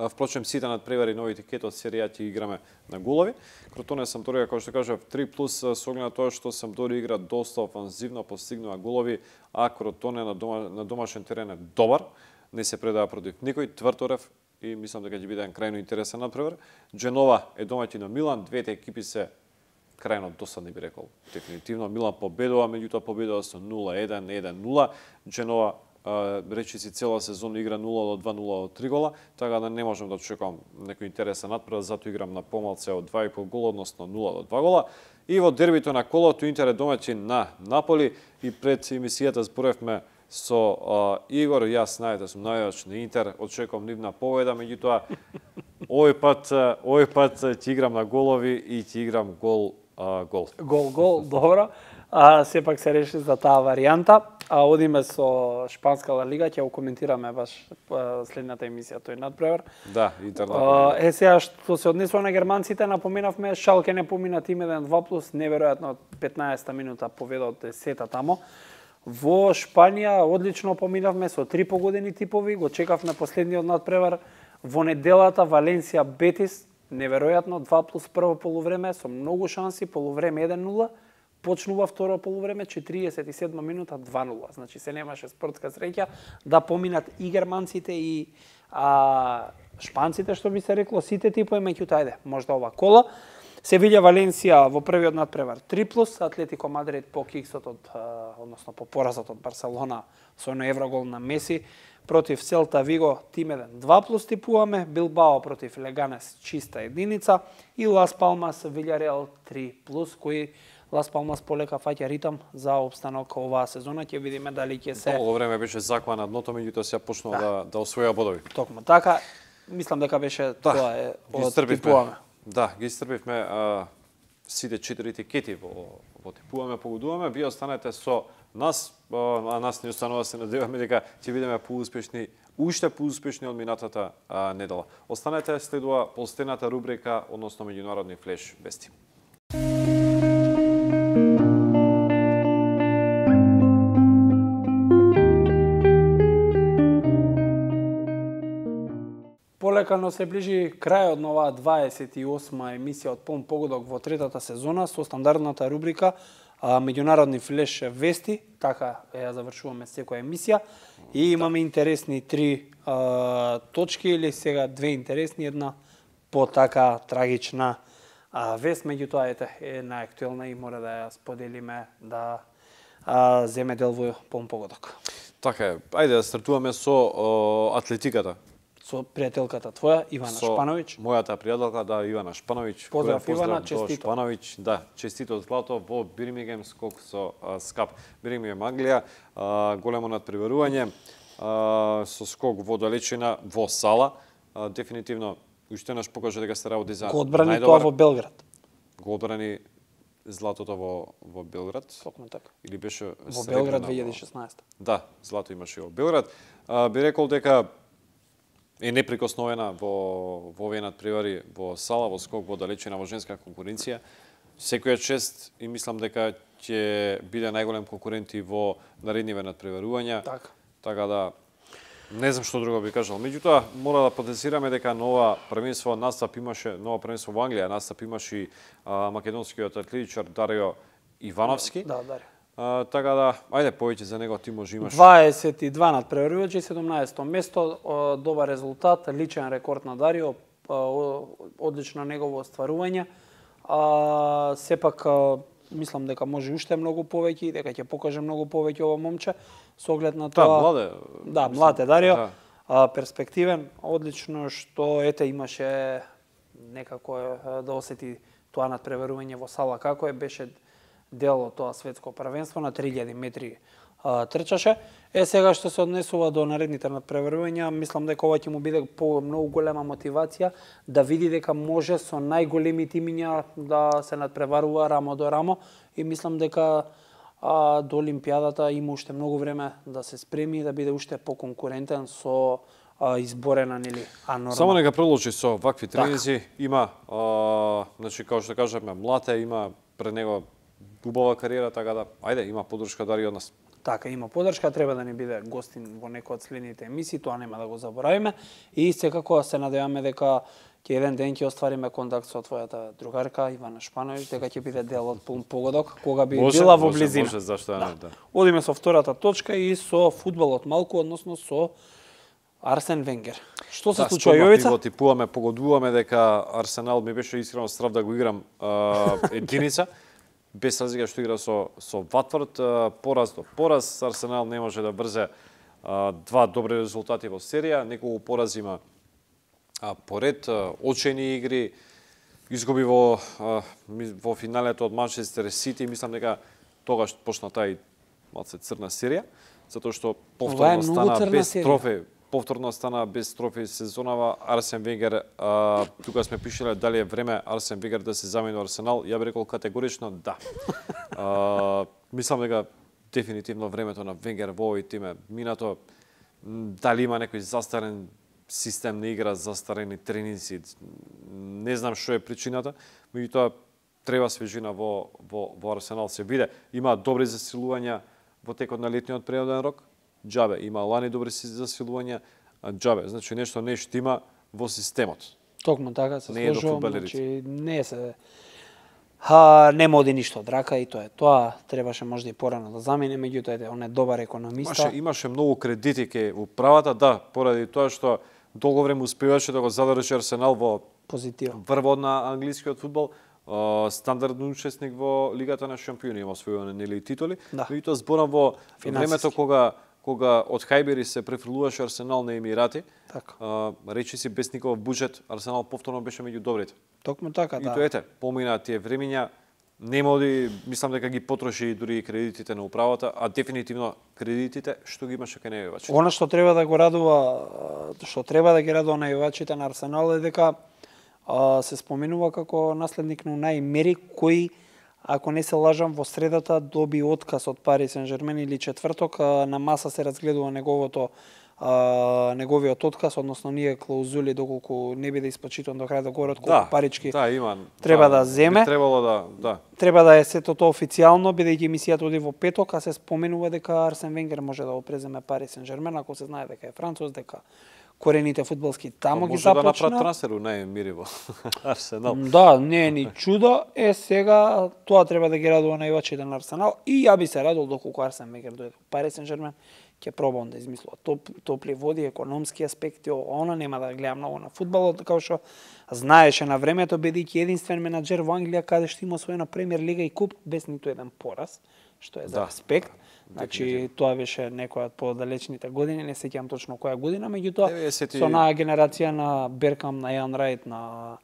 S1: Впрочем, сите надпревари новите кето од серијата играме на голови. Кротоне Самдорија, како што кажав, три плюс со оглед на тоа што Самдорија игра доста офанзивно, постигнува голови, а Кротоне на, дома, на домашен терен е добар, не се предава против никој, тврторев и мислам дека ќе биде крајно интересен надпревар. Дженова е домаќин на Милан, двете екипи се крајно досадни, би рекол. Дефинитивно Милан победува, меѓутоа победува со нула еден, еден нула. Дженова речи си цела сезона игра нула до два, нула до три гола, така да не можам да очекувам некој интересен надпревар, затоа играм на помалце од два и пол гола, односно нула до два гола. И во дербито на колото Интер е домаќин на Наполи и пред емисијата зборевме со а, Игор, јас знаете сум најач на Интер, очекувам нивна победа, меѓутоа овој пат овој пат ќе играм на голови и ќе играм гол а, гол.
S2: Гол гол, добро. А сепак се реши за таа варијанта. А одиме со шпанска Ла Лига, ќе го коментираме баш следната емисија тој надпревар.
S1: Да, Интер.
S2: Е сега што се однесува на германците, напоменавме Шалке не помина тим еден два плюс, неверојатно петнаесета минута победа од десета тамо. Во Шпанија одлично поминавме со три погодени типови, го чекавме последниот надпревар. Во неделата Валенсија Бетис, неверојатно два плюс прво полувреме со многу шанси, полувреме еден нула. Почнува второ полувреме, четириесет и седма минута, два нула. Значи се немаше спортска среќа да поминат и германците и а, шпанците, што би се рекло, сите типови, меѓутоа ајде, можда ова кола. Севиља Валенсија во првиот надпревар три плюс, Атлетико Мадрид по киксот од, односно по поразот од Барселона со едно еврогол на Меси, против Селта Виго тим еден два плюс типуваме, Билбао против Леганес чиста единица и Лас Палмас Вилјареал три плюс, кои Лас Палмас полека фаќа ритам за обстанок оваа сезона, ќе видиме дали ќе се
S1: Долго време беше закван на дното, меѓутоа сега почнува да да, да освоја бодови.
S2: Токму така, мислам дека беше да, тоа е од типуваме.
S1: Да, ги истрпивме а, сите четири тикети во во типуваме, погодуваме, вие останете со нас, а нас не останува се надеваме дека ќе бидеме поуспешни, уште поуспешни од минатата а, недела. Останете, следува полстената рубрика, односно меѓународни флеш вести.
S2: Полека се ближи крајот на оваа дваесет и осма емисија од Полн погодок во третата сезона со стандардната рубрика а, меѓународни флеш вести, така ја завршуваме секоја емисија и имаме интересни три а, точки или сега две интересни, една по така трагична а, вест, меѓутоа ете е најактуелна и мора да ја споделиме да а, земе дел во Полн погодок.
S1: Така е, ајде да стартуваме со о, атлетиката.
S2: Со пријателката твоја, Ивана
S1: со
S2: Шпановиќ.
S1: Мојата пријателка, да, Ивана Шпановиќ.
S2: Поздрав, Ивана,
S1: честито.
S2: честито.
S1: Шпановиќ, да, честито злато во Бирмингем скок со а, скап. Бирмингем Англија, а, големо надпреварување, а, со скок во далечина во сала. А, дефинитивно, уште еднаш покажа дека се работи за
S2: го одбрани тоа во Белград.
S1: Го одбрани златото во во Белград.
S2: Токму така.
S1: Или беше
S2: во Белград две илјади и шеснаесета.
S1: Да, злато имаше во Белград. А, би рекол дека е неприкосновена во во овие надпревари во сала, во скок, во далечина, во женска конкуренција. Секоја чест и мислам дека ќе биде најголем конкурент и во наредниве надпреварувања.
S2: Така.
S1: Така да не знам што друго би кажал. Меѓутоа мора да потенцираме дека нова првенство настап имаше, нова првенство во Англија настап имаше и а, македонскиот атлетичар Дарио Ивановски.
S2: Да, Дарио.
S1: А, така да, ајде повеќе за него ти може имаш.
S2: дваесет и два надпреварувачи, седумнаесетто место, добар резултат, личен рекорд на Дарио, одлично негово остварување. А, сепак мислам дека може уште многу повеќе и дека ќе покаже многу повеќе ова момче со оглед на тоа.
S1: Да, младе.
S2: Да, млад е Дарио.
S1: Да.
S2: А, перспективен, одлично што ете имаше некако да осети тоа надпреварување во сала како е, беше дел од тоа светско првенство на три илјади метри а, трчаше. Е сега што се однесува до наредните надпреварувања, мислам дека ова ќе му биде по многу голема мотивација да види дека може со најголеми тимиња да се надпреварува рамо до рамо и мислам дека а, до Олимпијадата има уште многу време да се спреми и да биде уште поконкурентен со а, изборена нели анорма.
S1: Само нека продолжи со вакви тренинзи, има а, значи како што кажавме, млад е, има пред него убава кариера, така да, ајде, има поддршка Дарио од нас.
S2: Така, има поддршка, треба да ни биде гостин во некој од следните емисии, тоа нема да го заборавиме. И секако се надеваме дека ќе еден ден ќе оствариме контакт со твојата другарка Ивана Шпановиќ, дека ќе биде дел од Пулн погодок, кога би
S1: може,
S2: била во
S1: може,
S2: близина.
S1: Може, зашто не, да.
S2: Одиме со втората точка и со фудбалот малку, односно со Арсен Венгер. Што се
S1: да,
S2: случува, Јовица?
S1: Да, типуваме, погодуваме дека Арсенал ми беше искрено страв да го играм а, единица. Без разлика што игра со со Ватфорд, пораз до пораз, Арсенал не може да брзе а, два добри резултати во серија, неколку порази има а, поред, а, очени игри, изгуби во а, во финалето од Манчестер Сити, мислам дека тогаш почна таа малце црна серија, затоа што повторно стана без трофеј. Повторно стана без трофеј сезонава. Арсен Венгер, а, тука сме пишале дали е време Арсен Венгер да се замени во Арсенал. Ја би рекол категорично да. А, мислам дека дефинитивно времето на Венгер во овој тим е минато. Дали има некој застарен систем на игра, застарени тренинци, не знам што е причината, меѓутоа треба свежина во, во, во Арсенал се биде. Има добри засилувања во текот на летниот природен рок. Џабе, има лани добри засилувања, џабе, значи нешто не штима во системот.
S2: Токму така се
S1: не
S2: сложувам, значи не се Ха, нема оди ништо од рака и тоа е тоа, требаше можда и порано да замине, меѓутоа он е добар економиста.
S1: Имаше, имаше многу кредити ке управата, да, поради тоа што долго време успеваше да го задржи Арсенал во
S2: позитива.
S1: Врвот на англискиот фудбал, стандарден учесник во Лигата на шампиони, има освојуване нели титули,
S2: да.
S1: Меѓутоа зборам во времето кога кога од Хајбери се префрлуваше Арсенал на Емирати,
S2: така.
S1: а, речи си без никаков буџет, Арсенал повторно беше меѓу добрите.
S2: Токму така,
S1: и
S2: да.
S1: И тоа ете, помина тие времиња, нема оди, мислам дека ги потроши дури и кредитите на управата, а дефинитивно кредитите што ги имаше кај најавачите.
S2: Она што треба да го радува, што треба да ги радува најавачите на Арсенал е дека а, се споменува како наследник на Унај Емери, кој, ако не се лажам, во средата доби отказ од Пари Сен-Жермен или четврток, на маса се разгледува неговото а, неговиот отказ, односно ние клаузули доколку не биде испочитан до крај да говорат колку
S1: да,
S2: парички
S1: да, има,
S2: треба
S1: да,
S2: да земе.
S1: Би требало да, да.
S2: Треба да е сето тоа официјално, бидејќи емисијата оди во петок, а се споменува дека Арсен Венгер може да го преземе Пари Сен-Жермен, ако се знае дека е француз, дека корените фудбалски тамо ги започна.
S1: Може да направи трансфер нај Емери во Арсенал.
S2: Да, не е ни чудо. Е, сега тоа треба да ги радува највачите на Арсенал. И ја би се радил доколку Арсен Венгер дојде во Пари Сен-Жермен, ќе пробам да измислува топ, топли води, економски аспекти, она нема да гледа многу на фудбалот, како што знаеше на времето, бидејќи единствен менаџер во Англија каде што има освоена Премиер лига и куп без ниту еден пораз, што е за
S1: да.
S2: респект. Значи, тоа беше некоја од подалечните години, не сеќавам точно која година, меѓутоа деветдесети... со онаа генерација на Беркам, на Јан Рајт, на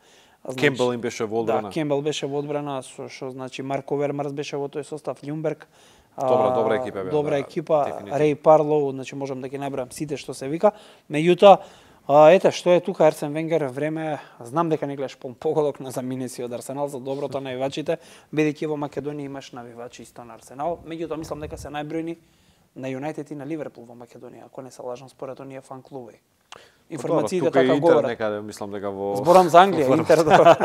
S1: значи, Кембел им беше во одбрана.
S2: Да, Кембел беше во одбрана, со што значи Марко Вермарс беше во тој состав, Љумберг.
S1: Добра, добра екипа беа.
S2: Добра
S1: да,
S2: екипа, Реј Парлоу, значи можам да ги набрам сите што се вика. Меѓутоа, А, ете, што е тука Арсен Венгер, време, знам дека не гледаш Пулн погодок, но замине си од Арсенал за доброто на навивачите, бидејќи во Македонија имаш навивачи исто на Арсенал, меѓутоа мислам дека се најбројни на Юнајтед и на Ливерпул во Македонија, ако не се лажам според оние фан клубови. Информациите така говорат.
S1: Тука некаде, мислам дека во
S2: Зборам за Англија, Интер добро.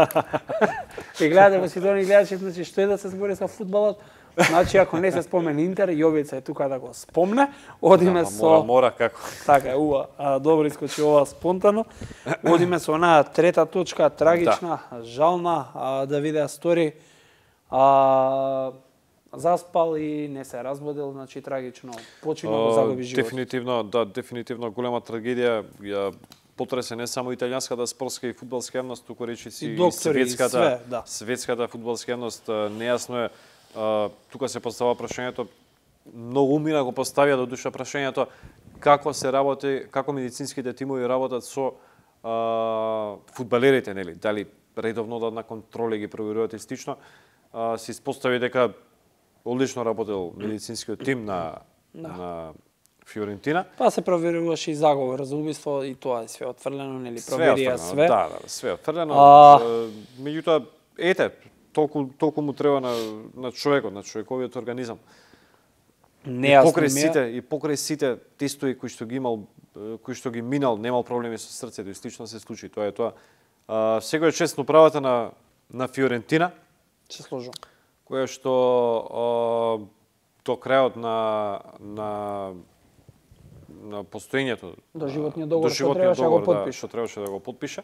S2: И гледате во Сидони гледачи, значи што е да се збори за фудбалот? Значи, ако не се спомне Интер, Јовица е тука да го спомне. Одиме
S1: да,
S2: со...
S1: Мора, мора, како.
S2: Така е, ува. А, добро искочи ова спонтано. Одиме со онаа трета точка, трагична, да. жална. А, Давиде Астори а, заспал и не се разбудил, значи трагично. Почина го загуби живот.
S1: Дефинитивно, да, дефинитивно голема трагедија. Ја потресе не само италијанската спортска и фудбалска јавност, туку речи си и,
S2: и доктори,
S1: светската,
S2: и све, да.
S1: светската фудбалска јавност. Нејасно е. Uh, тука се постава прашањето, многу умина го поставија до душа прашањето како се работи, како медицинските тимови работат со uh, фудбалерите, нели? Дали редовно да на контроли ги проверуваат и стично. Uh, се испостави дека одлично работел медицинскиот тим на да. на Фиорентина.
S2: Па се проверуваше и заговор за убиство и тоа е све отфрлено, нели? Проверија све.
S1: Да, да, све отфрлено. Uh... Меѓутоа, ете, толку толку му треба на на човекот, на човековиот организам.
S2: Не,
S1: и покрај сите и покрај сите тестови кои што ги имал, кои што ги минал, немал проблеми со срцето и слично се случи. Тоа е тоа. А, секој чест на правата на на Фиорентина.
S2: Се сложам.
S1: Која што а, до крајот на на на постоењето,
S2: до животниот договор,
S1: до
S2: што
S1: животниот
S2: требаше да го
S1: договор, да,
S2: потпише.
S1: што требаше да го потпише,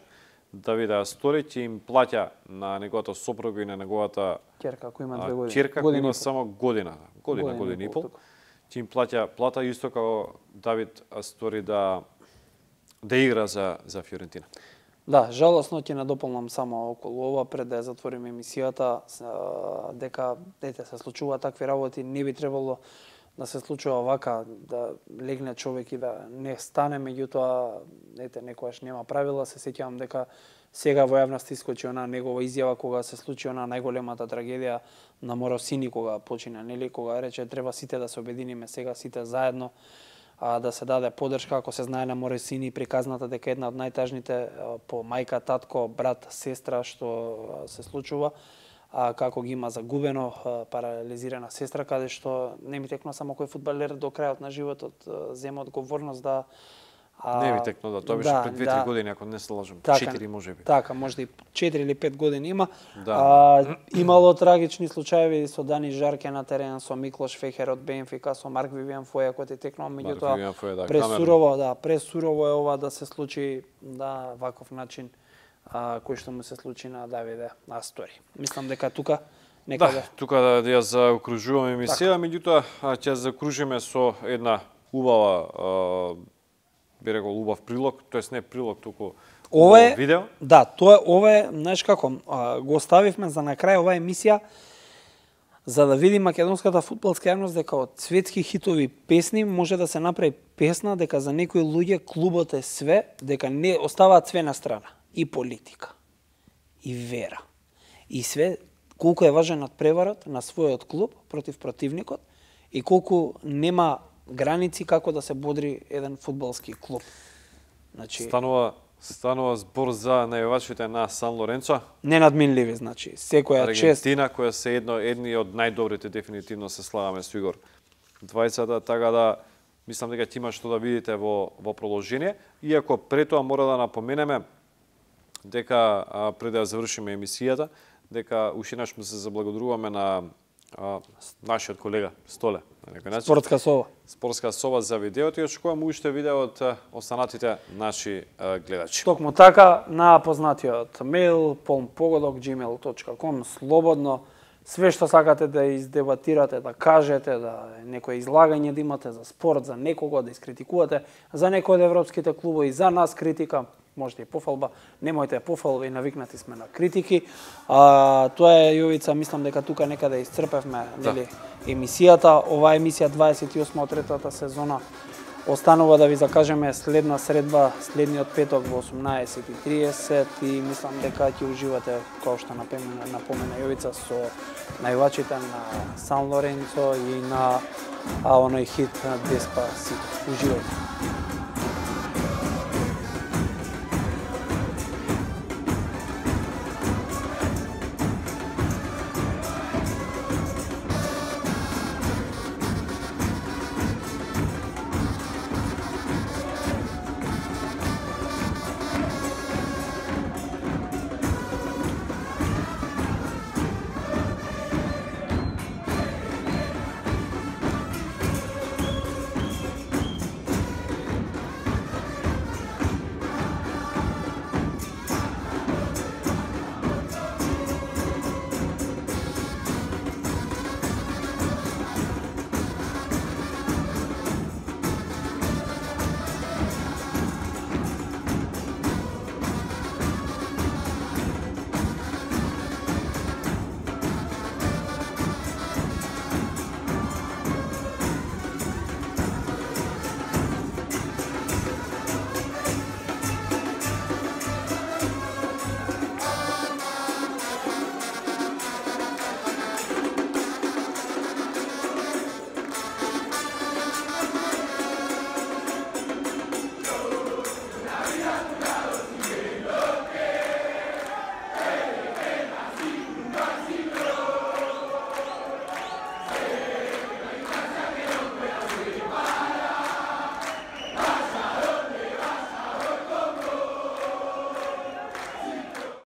S1: Давид Астори ќе им плаќа на неговата сопруга и на неговата
S2: ќерка, ако има две години.
S1: ќерка, која
S2: Година
S1: има
S2: и пол.
S1: само година, година, година и пол, ќе им плаќа плата исто како Давид Астори да да игра за за Фиорентина.
S2: Да, жалосно ќе надополнам само околу ова пред да ја затвориме емисијата, а, дека ете се случува такви работи, не би требало да се случува вака, да легне човек и да не стане, меѓутоа ете некогаш нема правила. Се сеќавам дека сега во јавност искочи она негова изјава кога се случи она најголемата трагедија на Моросини кога почина, нели, кога рече треба сите да се обединиме сега сите заедно, а, да се даде поддршка, ако се знае на Моросини приказната дека една од најтажните по мајка, татко, брат, сестра што се случува, а, како ги има загубено, а, парализирана сестра, каде што не ми текно само кој фудбалер до крајот на животот зема одговорност да
S1: А, не ми текно, да, тоа беше
S2: да,
S1: пред две-три
S2: да,
S1: години, ако не се лажам.
S2: Така,
S1: четири можеби.
S2: Така, можда и четири или пет години има.
S1: Да.
S2: А, имало трагични случаеви со Дани Жарке на терен, со Миклош Фехер од Бенфика, со Марк Вивиан Фоја кој е текнал, меѓутоа
S1: да,
S2: пресурово, да, пресурово е ова да се случи да ваков начин а, кој што му се случи на Давиде Астори. Мислам дека тука некаде.
S1: Да, тука да ја заокружуваме емисија, меѓутоа ќе закружиме со една убава би рекол убав прилог, тоест не прилог, туку
S2: ова е
S1: видео.
S2: Да, тоа е ова е, знаеш како, а, го оставивме за на крај оваа емисија за да види македонската фудбалска јавност дека од светски хитови песни може да се направи песна дека за некои луѓе клубот е све, дека не оставаат све на страна, и политика, и вера, и све, колку е важен надпреварот на својот клуб против противникот и колку нема граници како да се бодри еден фудбалски клуб. Значи
S1: станува станува збор за најавачите на Сан Лоренцо.
S2: Ненадминливи, значи, секоја чест.
S1: Аргентина која се едно едни од најдобрите, дефинитивно се слагаме со Игор. Двајцата, така да мислам дека ќе има што да видите во во продолжение, иако пред тоа мора да напоменеме дека а, пред да завршиме емисијата, дека уште еднаш му се заблагодаруваме на а, нашиот колега Столе, на некој начин.
S2: Спортска сова.
S1: Спортска сова за видеото и очекуваме уште видео од останатите наши а, гледачи.
S2: Токму така, на познатиот мејл полнпогодок gmail точка com, слободно, све што сакате да издебатирате, да кажете, да некое излагање да имате за спорт, за некого, да искритикувате, за некој од европските клубови, за нас критика, можете и пофалба, немојте пофалба и навикнати сме на критики. А, тоа е, Јовица, мислам дека тука некаде исцрпевме, нели, емисијата. Оваа емисија дваесет и осма од третата сезона останува да ви закажеме следна средба, следниот петок во осумнаесет и триесет и мислам дека ќе уживате, како што напомена, напомена Јовица, со највачите на Сан Лоренцо и на а, оној хит Деспасито. Уживајте.